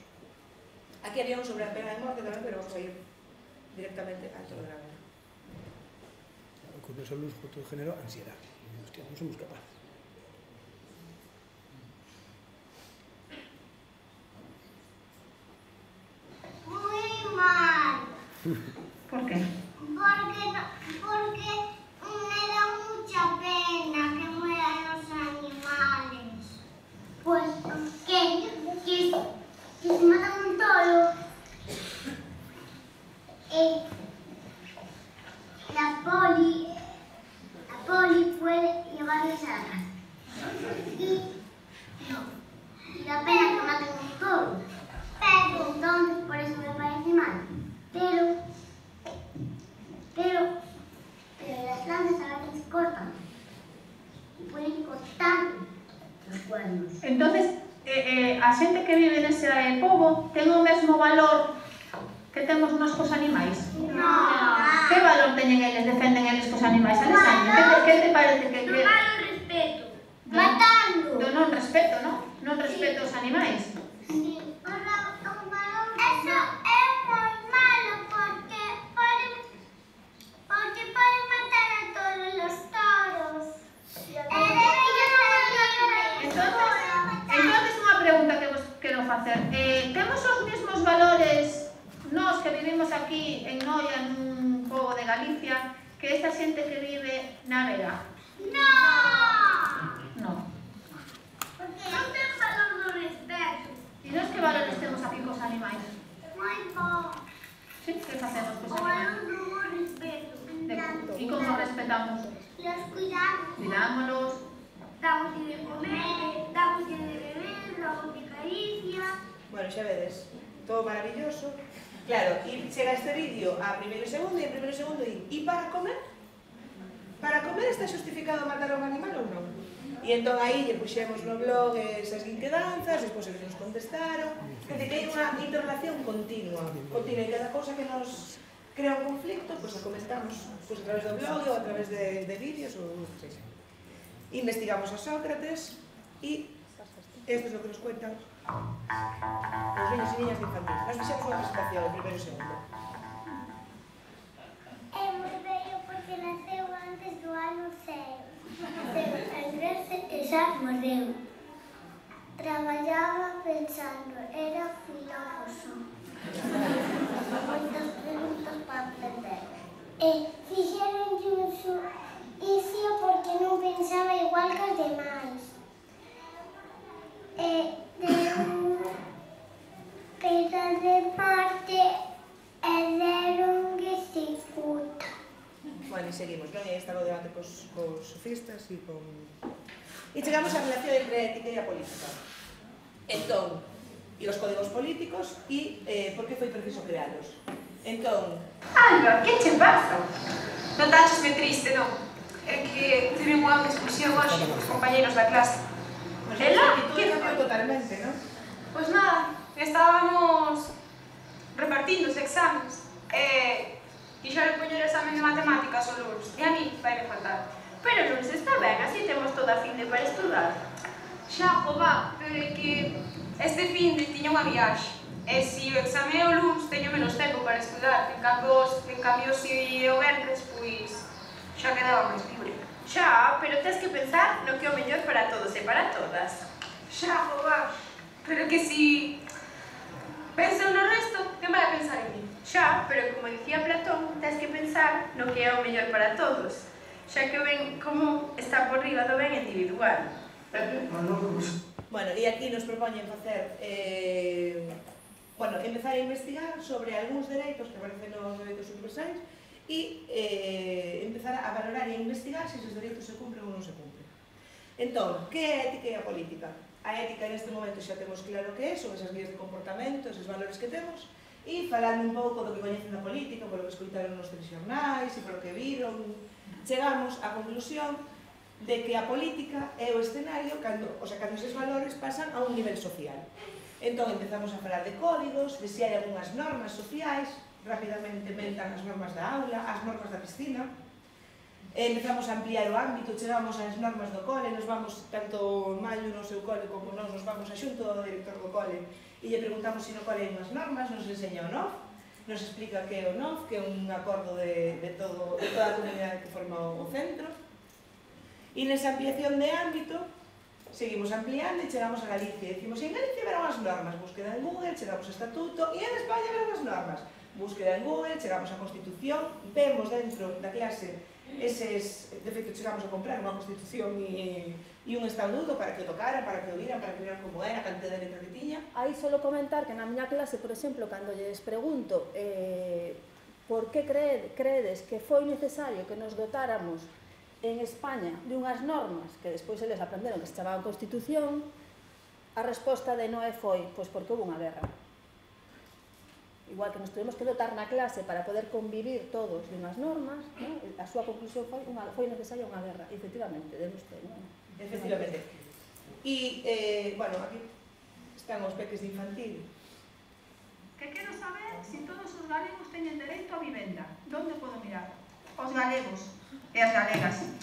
Aquí había un sobre a pena de morte tamén, pero vamos a ir directamente al tono de la vega. Con eso luz, con todo género, ansiedad. Hostia, non somos capaces. Muy mal. ¿Por qué? Porque, porque me da mucha pena que mueran los animales. Pues que, que, que se matan un toro. Eh, la poli, la poli puede llevarles a la casa. Y no, y da pena que maten un toro. Pero entonces por eso me parece mal. Pero, pero, pero las plantas a veces se cortan. Y pueden cortar los cuernos. Entonces, eh, eh, a xente que vive nese pobo ten o mesmo valor que temos nós cos animais? No. Que valor teñen eles, defenden eles cos animais? A que te, que te parece que... No que... malo respeto. Matando. Do non respeto, non? Non respeto os animais. Sí. Eso es muy malo porque pueden, porque pueden matar a todos los toros. Entonces, entonces unha pregunta que vos quero facer. Eh, temos os mesmos valores nós que vivimos aquí en Noia, nun pobo de Galicia, que esta xente que vive na Vera? No. No. Porque non ten valor do respeto. E nós que valores temos aquí cos animais? Moi bo. Sí, que facemos cos O animais? valor do respeto. E como respetamos? Los cuidamos. Cuidámonos. Damos de comer, damos de beber, damos de caricia. Bueno, xa vedes, todo maravilloso. Claro, e chega este vídeo a primeiro e segundo e a primeiro e segundo e, e para comer? Para comer está xustificado matar a un animal ou non? E entón aí lle puxemos no blog esas inquedanzas, despois eles nos contestaron. Quer dizer, que hai unha interrelación continua, continua, e cada cosa que nos crea un conflicto, pois a comentamos pois a través do blog ou a través de, de vídeos ou o que sexa. Investigamos a Sócrates e esto es lo que nos cuentan os niños e niñas de infantil. Nos fixemos unha presentación o primeiro e segundo. É moi bello porque naceu antes do ano cero. Naceu en Grecia e xa morreu. Traballaba pensando, era filósofo. Moitas preguntas para aprender. E fixeron un xuicio porque non pensaba igual que os demais. E deu pena de parte e deron que se cuta. Bueno, e seguimos, non? E está o debate cos, cos sofistas e con... E chegamos á relación entre a ética e a política. Entón, e os códigos políticos e eh, por que foi preciso crealos. Entón... Alba, que che pasa? Non táchesme triste, non? É que tive unha discusión hoxe cos compañeros da clase. Ela? Que cambiou totalmente, non? Pois nada, estábamos repartindo os exames e quixeron poñer o examen de matemáticas o lunes e a mí vai me faltar. Pero o lunes está ben, así temos toda a finde para estudar. Xa, jova, pero é que este finde tiña unha viaxe e se o exame é o lunes teño menos tempo para estudar, en cambio, en cambio se o venres, pois xa quedaba máis libre. Xa, pero tens que pensar no que é o mellor para todos e para todas. Xa, jova, pero que si penso no resto, que vai a pensar en mí? Xa, pero como dicía Platón, tens que pensar no que é o mellor para todos, xa que o ben común está por riba do ben individual. Bueno, e aquí nos propoñen facer, eh, bueno, empezar a investigar sobre algúns dereitos que aparecen nos dereitos universais e eh, empezar a valorar e a investigar se esos dereitos se cumpren ou non se cumpren. Entón, que é a ética e a política? A ética neste momento xa temos claro que é, son esas guías de comportamento, esos valores que temos, e falando un pouco do que coñecen da política, polo que escoitaron nos telexornais e polo que viron, chegamos á conclusión de que a política é o escenario cando, o sea, cando eses valores pasan a un nivel social. Entón empezamos a falar de códigos, de se hai algunhas normas sociais, rapidamente mentan as normas da aula, as normas da piscina, empezamos a ampliar o ámbito, chegamos ás normas do cole, nos vamos, tanto Maio no seu cole como nós, nos vamos a xunto do director do cole e lle preguntamos se no cole hai unhas normas, nos enseña o N O F, nos explica que é o N O F, que é un acordo de, de, todo, de toda a comunidade que forma o centro. E nesa ampliación de ámbito, seguimos ampliando e chegamos a Galicia. Dicimos, en Galicia verán as normas, búsqueda en Google, chegamos a Estatuto, e en España verán as normas. Búsqueda en Google, chegamos a Constitución, vemos dentro da clase eses, de feito chegamos a comprar unha Constitución e, e un estatuto para que o tocaran, para que o viran, para que viran como era, a cantidad de letra que tiña. Aí solo comentar que na miña clase, por exemplo, cando lles pregunto eh, por que crede, credes que foi necesario que nos dotáramos en España de unhas normas que despois eles aprenderon que se chamaban Constitución, a resposta de Noé foi, pois porque houve unha guerra. Igual que nos tuvemos que dotar na clase para poder convivir todos de unhas normas, ¿no? A súa conclusión foi, unha, foi necesaria unha guerra, e efectivamente, de usted, ¿no? Efectivamente. E, eh, bueno, aquí están os peques de infantil. Que quero saber se todos os galegos teñen dereito a vivenda. Donde podo mirar? Os galegos e as galegas.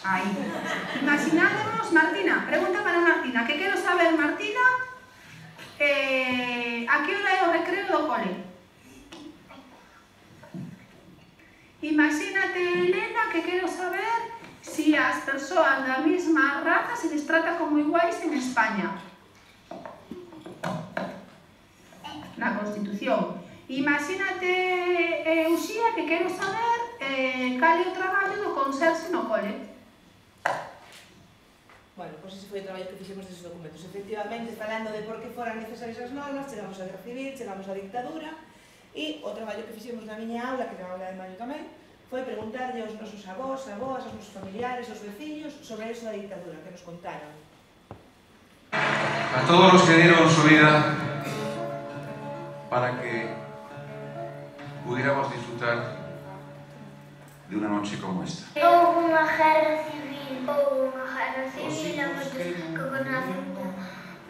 Aí. Imaginádemos, Martina, pregunta para Martina. Que quero saber, Martina, eh, a que hora é o recreo do cole? Imagínate, Elena, que quero saber si as persoas da mesma raza se les trata como iguais en España. Na Constitución. Imagínate, eh, Uxía, que quero saber eh, cal é o traballo do conserxe no cole. Bueno, pois ese foi o traballo que fixemos deses documentos. Efectivamente, falando de por que foran necesarias as normas, chegamos a guerra civil, chegamos á dictadura, e o traballo que fixemos na miña aula, que era a aula de Maio tamén, foi preguntarlle aos nosos avós, avós, aos nosos familiares, aos veciños, sobre eso da dictadura, que nos contaron. A todos los que dieron su vida para que pudiéramos disfrutar de una noche como esta. Houve unha guerra civil, houve unha guerra civil, e moitos que conocen da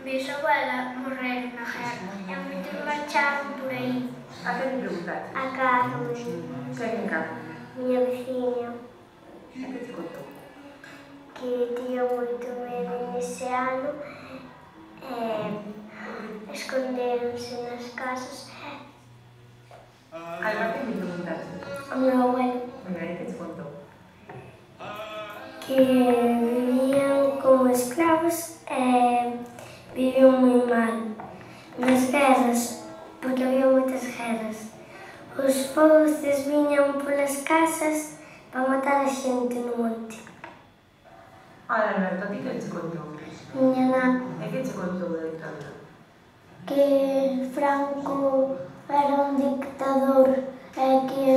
bisabuela morreron na guerra, e moitos marcharon por aí. A que me preguntaste? A Carmen. Quen en Carmen? Miña veciña. E que te contou? Que tiña moito medo nese ano, e escondéronse nas casas. Alba, que me preguntaste? O meu abuelo. Mira, e que te contou? Que vivían como escravos e vivían moi mal nas guerras, porque había moitas guerras. Os fouces viñan polas casas para matar a xente no monte. Olha, Alberto, a ti que te contou? Miña nana. E que te contou da dictadura? Que Franco era un dictador e que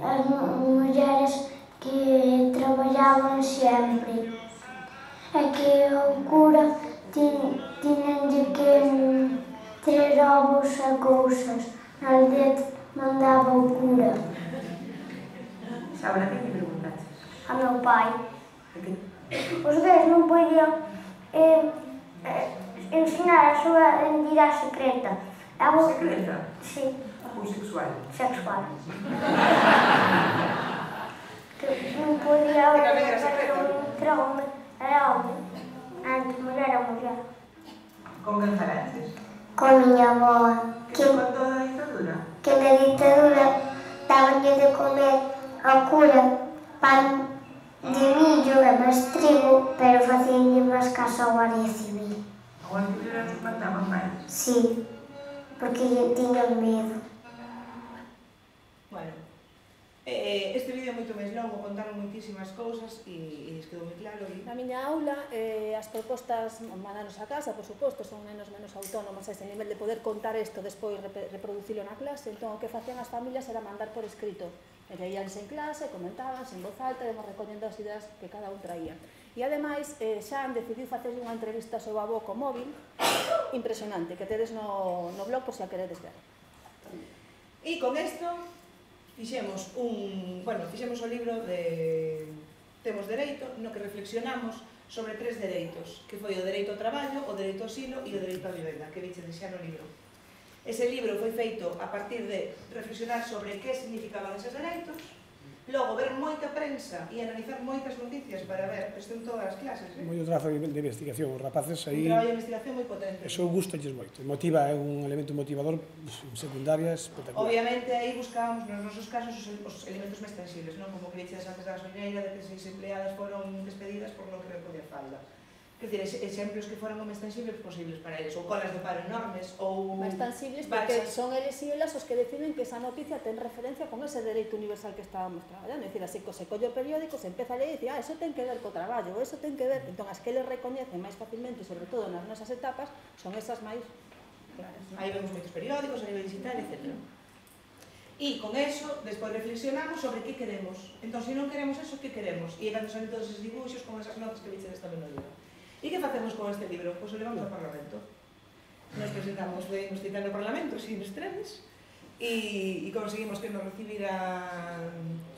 as mulleres que traballaban sempre e que o cura tiñenlle que ter ovos e cousas na aldea mandaba o cura. Sabe, a que me preguntaste? A meu pai. E que? Os gays non podían eh, eh, ensinar a súa identidade secreta. Algo... Secreta? Sí. Ou sexual? Sexual. Que non podía haber un home, era home. Antes, mulher era mulher. Con quen falaches? Con miña avoa. Que te contou da dictadura? Que na dictadura dabanlle de comer ao cura pan de millo e máis trigo, pero facíanlle máis caso á Guardia Civil. A Guardia Civil era que mataban máis? Sí, porque lle tiñan medo. Bueno, eh, este vídeo é moito máis longo, contaron moitísimas cousas e, e quedou moi claro. E... Na miña aula, eh, as propostas mandanos a casa, por suposto, son nenos menos autónomos a ese nivel de poder contar isto despois reproducilo na clase, entón o que facían as familias era mandar por escrito. E leíanse en clase, comentaban en voz alta, e recollendo as ideas que cada un traía. E ademais, eh, Xan decidiu facer unha entrevista ao seu avó co móvil impresionante, que tedes no, no blog por se a queredes ver. E con isto fixemos un, bueno, fixemos o libro de Temos Dereito, no que reflexionamos sobre tres dereitos, que foi o dereito ao traballo, o dereito ao asilo e o dereito á vivenda, que viche xa no libro. Ese libro foi feito a partir de reflexionar sobre que significaban eses dereitos, logo ver moita prensa e analizar moitas noticias para ver, isto en todas as clases, eh? Moito trazo de investigación, os rapaces aí... Un traballo de investigación moi potente. Eso gusta-lles moito, motiva, é un elemento motivador en secundaria espectacular. Obviamente, aí buscábamos, nos nosos casos, os elementos máis tangibles, non? Como que dices antes da gasolinera, de que seis empleadas foron despedidas por non querer poñer falda. Quer dizer, exemplos que foran o máis tangibles posibles para eles, ou colas de paro enormes, ou... Máis tangibles porque son eles e elas os que deciden que esa noticia ten referencia con ese dereito universal que estábamos traballando. É dicir, así que se colle o periódico, se empeza a ler e dice, ah, eso ten que ver co traballo, eso ten que ver... Entón, as que eles recoñecen máis facilmente, sobre todo nas nosas etapas, son esas máis claras. Aí vemos moitos periódicos a nivel digital, etcétera. E con eso, despois reflexionamos sobre que queremos. Entón, se non queremos eso, que queremos? E cando son todos esos dibuixos con esas notas que dices tamén no libro. E que facemos con este libro? Pois o levamos ao Parlamento. Nos presentamos, podemos citar no Parlamento, sin estrenes, e, e conseguimos que nos recibiran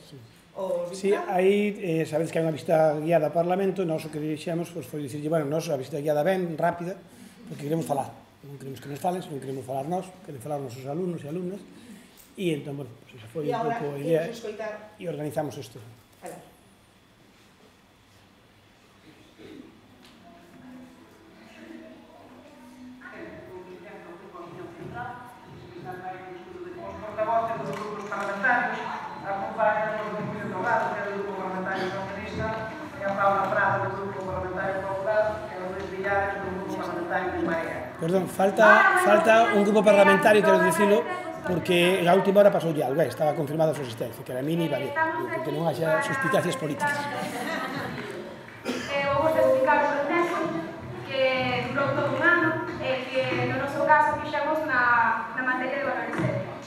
sí. os diputados. Sí, aí, eh, sabedes que hai unha visita guiada ao Parlamento, e nós o que dirixemos pues, foi dicirlle, bueno, nós a visita guiada ben, rápida, porque queremos falar. Non queremos que nos falen, non queremos falar nós, queremos falar os nosos alumnos e alumnas, e entón, bueno, pues, esa foi un pouco a idea, e organizamos isto. Alá. Perdón, falta, falta un grupo parlamentario, quero dicilo, porque a última hora pasou ya algo, estaba confirmada a súa existencia, que era Mini e Vale, porque non haxa suspicacias políticas. Eh, vou vos explicar o proceso que durou todo un ano e que no noso caso fixemos na, na materia de valores éticos.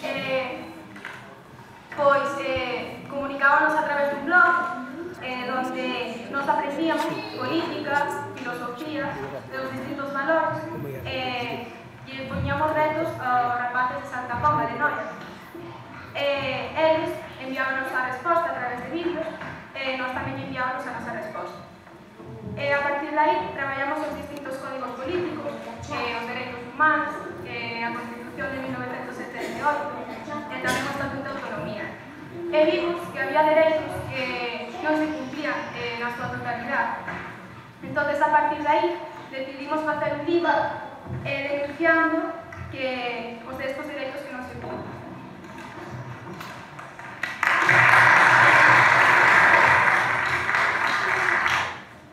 Eh, pois eh, comunicábamos a través dun blog eh, donde nos aprendíamos política, filosofía, de los distintos valores eh, e poñíamos retos aos rapaces de Santa Comba de Noia. Eh, eles enviábanos a resposta a través de vídeos e nós tamén enviábanos a nosa resposta. E a partir de aí traballamos os distintos códigos políticos, eh, os dereitos humanos, eh, a Constitución de mil novecentos setenta e oito e tamén o Estatuto de Autonomía. E vimos que había dereitos que non se cumplían eh, na súa totalidade. Entón, a partir de aí, decidimos facer un libro eh, denunciando que os de estos dereitos que non se cumplen.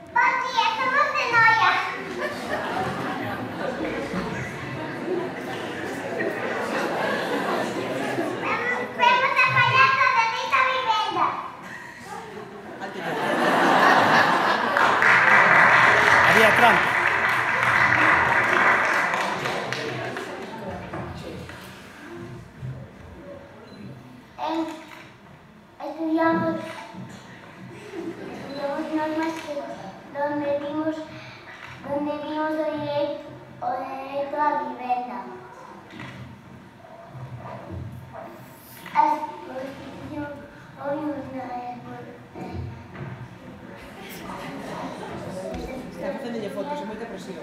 Bom dia, somos de Noia. Vemos a colheita de dereito à vivenda. Había trampa. Estudiamos, estudiamos normas que, donde vimos, donde vimos o dereito, o dereito à vivenda. A Constitución oímos na Está facendo fotos, é moita presión.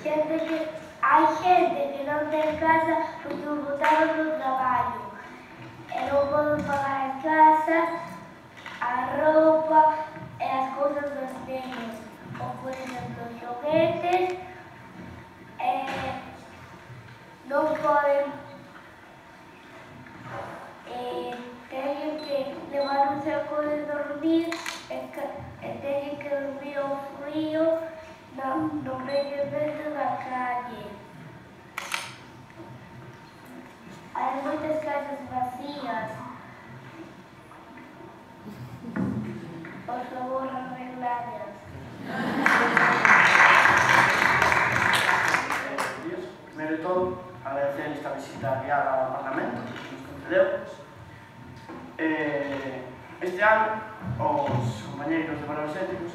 Xente que, hai xente que non ten casa porque o botaron no traballo e non poden pagar a casa, a roupa e as cousas dos nenos, ou por exemplo os xoguetes, e non poden e teñen que levar un saco de dormir e, e teñen que dormir ao frío no, no medio medio da calle. Hai moitas casas vacías. Por favor, arregladas. Primeiro de todo, agradecer esta visita guiada ao Parlamento, nos concedeu. Este ano, os compañeiros de Valores Éticos,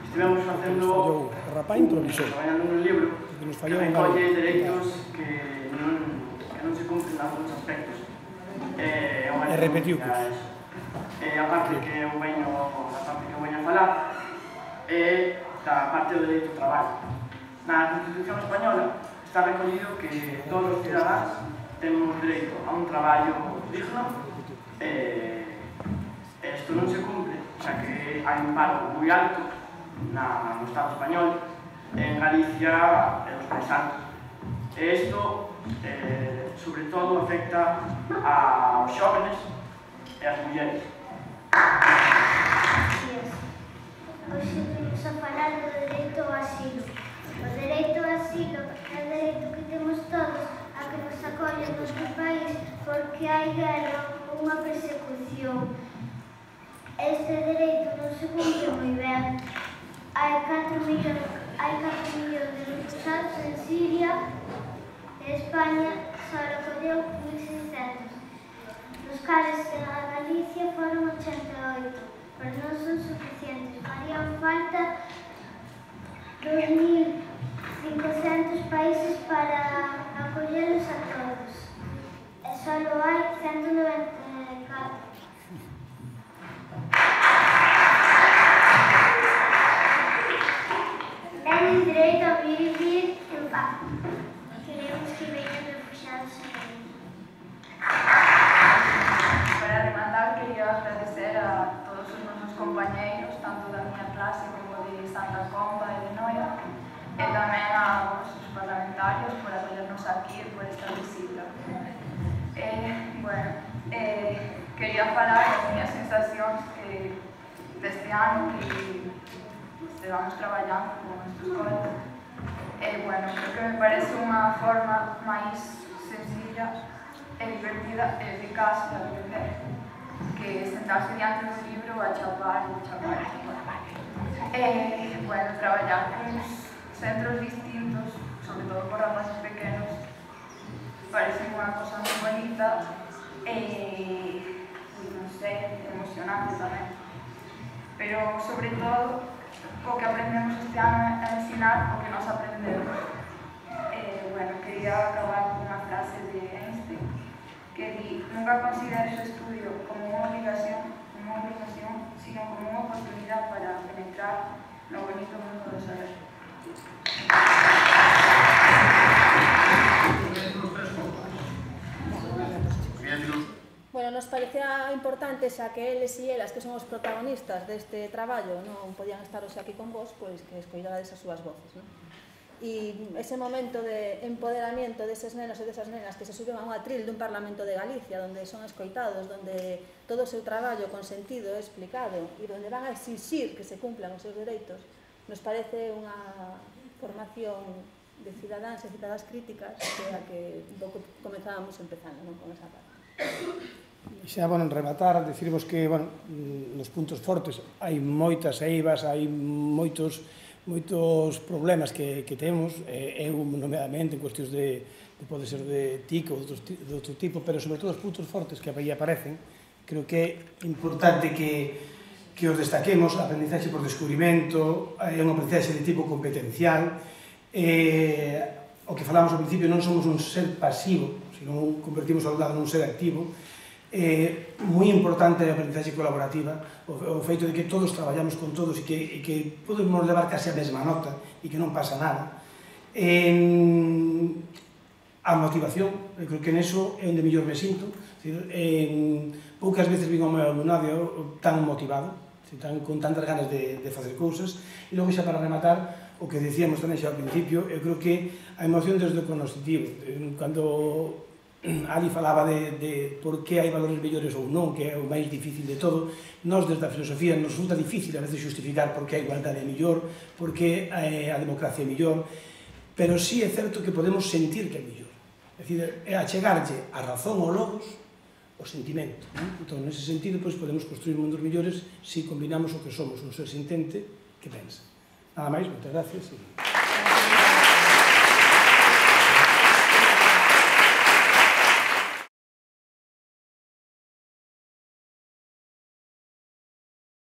estivemos facendo, traballando nun libro que recolle dereitos que non se cumplen en algúns aspectos. E repetiu que a parte que eu veño a falar é da parte do dereito ao traballo. Na Constitución Española está recollido que todos os cidadáns temos dereito a un traballo digno e isto non se cumpre, xa que hai un paro moi alto no Estado español, en Galicia e os paisanos. E isto, sobre todo, afecta aos xóvenes e ás mulleres. Hoxe vamos a falar do dereito ao asilo. O dereito ao asilo é o dereito que temos todos a que nos acollen no noso país porque hai guerra ou unha persecución. Este dereito non se cumpre moi ben. Hai catro millóns de refugiados en Siria e España só recolleu mil seiscentos. Nos cales en Galicia foron ochenta e oito, pero non son suficientes. Farían falta dos mil cincocentos países para acollelos a todos. E só hai ciento noventa e catro. Teñen dereito a vivir en paz. Queremos que veñan refugiados a Galicia. Para rematar, quería agradecer a todos os nosos compañeiros, tanto da miña clase como de Santa Comba e de Noia, e tamén a vos, os parlamentarios, por acollernos aquí e por esta visita. Eh, bueno, eh, quería falar das miñas sensacións eh, deste ano que estivamos traballando con estes colegas. E, bueno, creo que me parece unha forma máis sencilla e divertida e eficaz de aprender que sentarse diante do libro a chapar e chapar e chapar. E, bueno, traballar con centros distintos, sobre todo con rapaces pequenos, parece unha cosa moi bonita e, non sei, emocionante tamén. Pero, sobre todo, o que aprendemos este ano é ensinar o que nos aprendemos. Eh, bueno, quería acabar con unha frase de Einstein que di: nunca consideres o estudio como unha obligación, unha obligación, sino como unha oportunidade para penetrar no bonito mundo do saber. Bueno, nos parecía importante xa que eles e elas, que son os protagonistas deste traballo, non podían estar hoxe aquí con vos, pois que escoitades as súas voces, non? E ese momento de empoderamiento deses nenos e desas nenas que se suben a un atril dun Parlamento de Galicia, onde son escoitados, onde todo o seu traballo con sentido é explicado e onde van a exixir que se cumplan os seus dereitos, nos parece unha formación de cidadáns e cidadas críticas que a que un pouco comenzábamos empezando, non, con esa parte. Xa, bueno, en rematar, decirvos que, bueno, nos puntos fortes hai moitas eivas, hai moitos moitos problemas que, que temos, eh, eu nomeadamente en cuestións de, de pode ser de T I C ou de outro tipo, pero sobre todo os puntos fortes que aí aparecen, creo que é importante que, que os destaquemos. A aprendizaxe por descubrimento é unha aprendizaxe de tipo competencial, eh, o que falamos ao principio, non somos un ser pasivo, senón convertimos ao lado nun ser activo. É moi importante a aprendizaxe colaborativa, o, o feito de que todos traballamos con todos e que, e que podemos levar case a mesma nota e que non pasa nada. En, a motivación, eu creo que neso é onde mellor me sinto. En, poucas veces vin ao meu alumnado tan motivado, tan, con tantas ganas de, de facer cousas. E logo xa para rematar, o que decíamos tamén xa ao principio, eu creo que a emoción desde o conoscitivo. Cando Ali falaba de, de por que hai valores mellores ou non, que é o máis difícil de todo. Nós, desde a filosofía, nos resulta difícil a veces justificar por que a igualdade é mellor, por que a democracia é mellor, pero sí é certo que podemos sentir que é mellor. É dicir, é achegarlle a razón ao logos o sentimento. Entón, nese sentido, podemos construir mundos mellores se combinamos o que somos, un ser sintente que pensa. Nada máis, moitas gracias.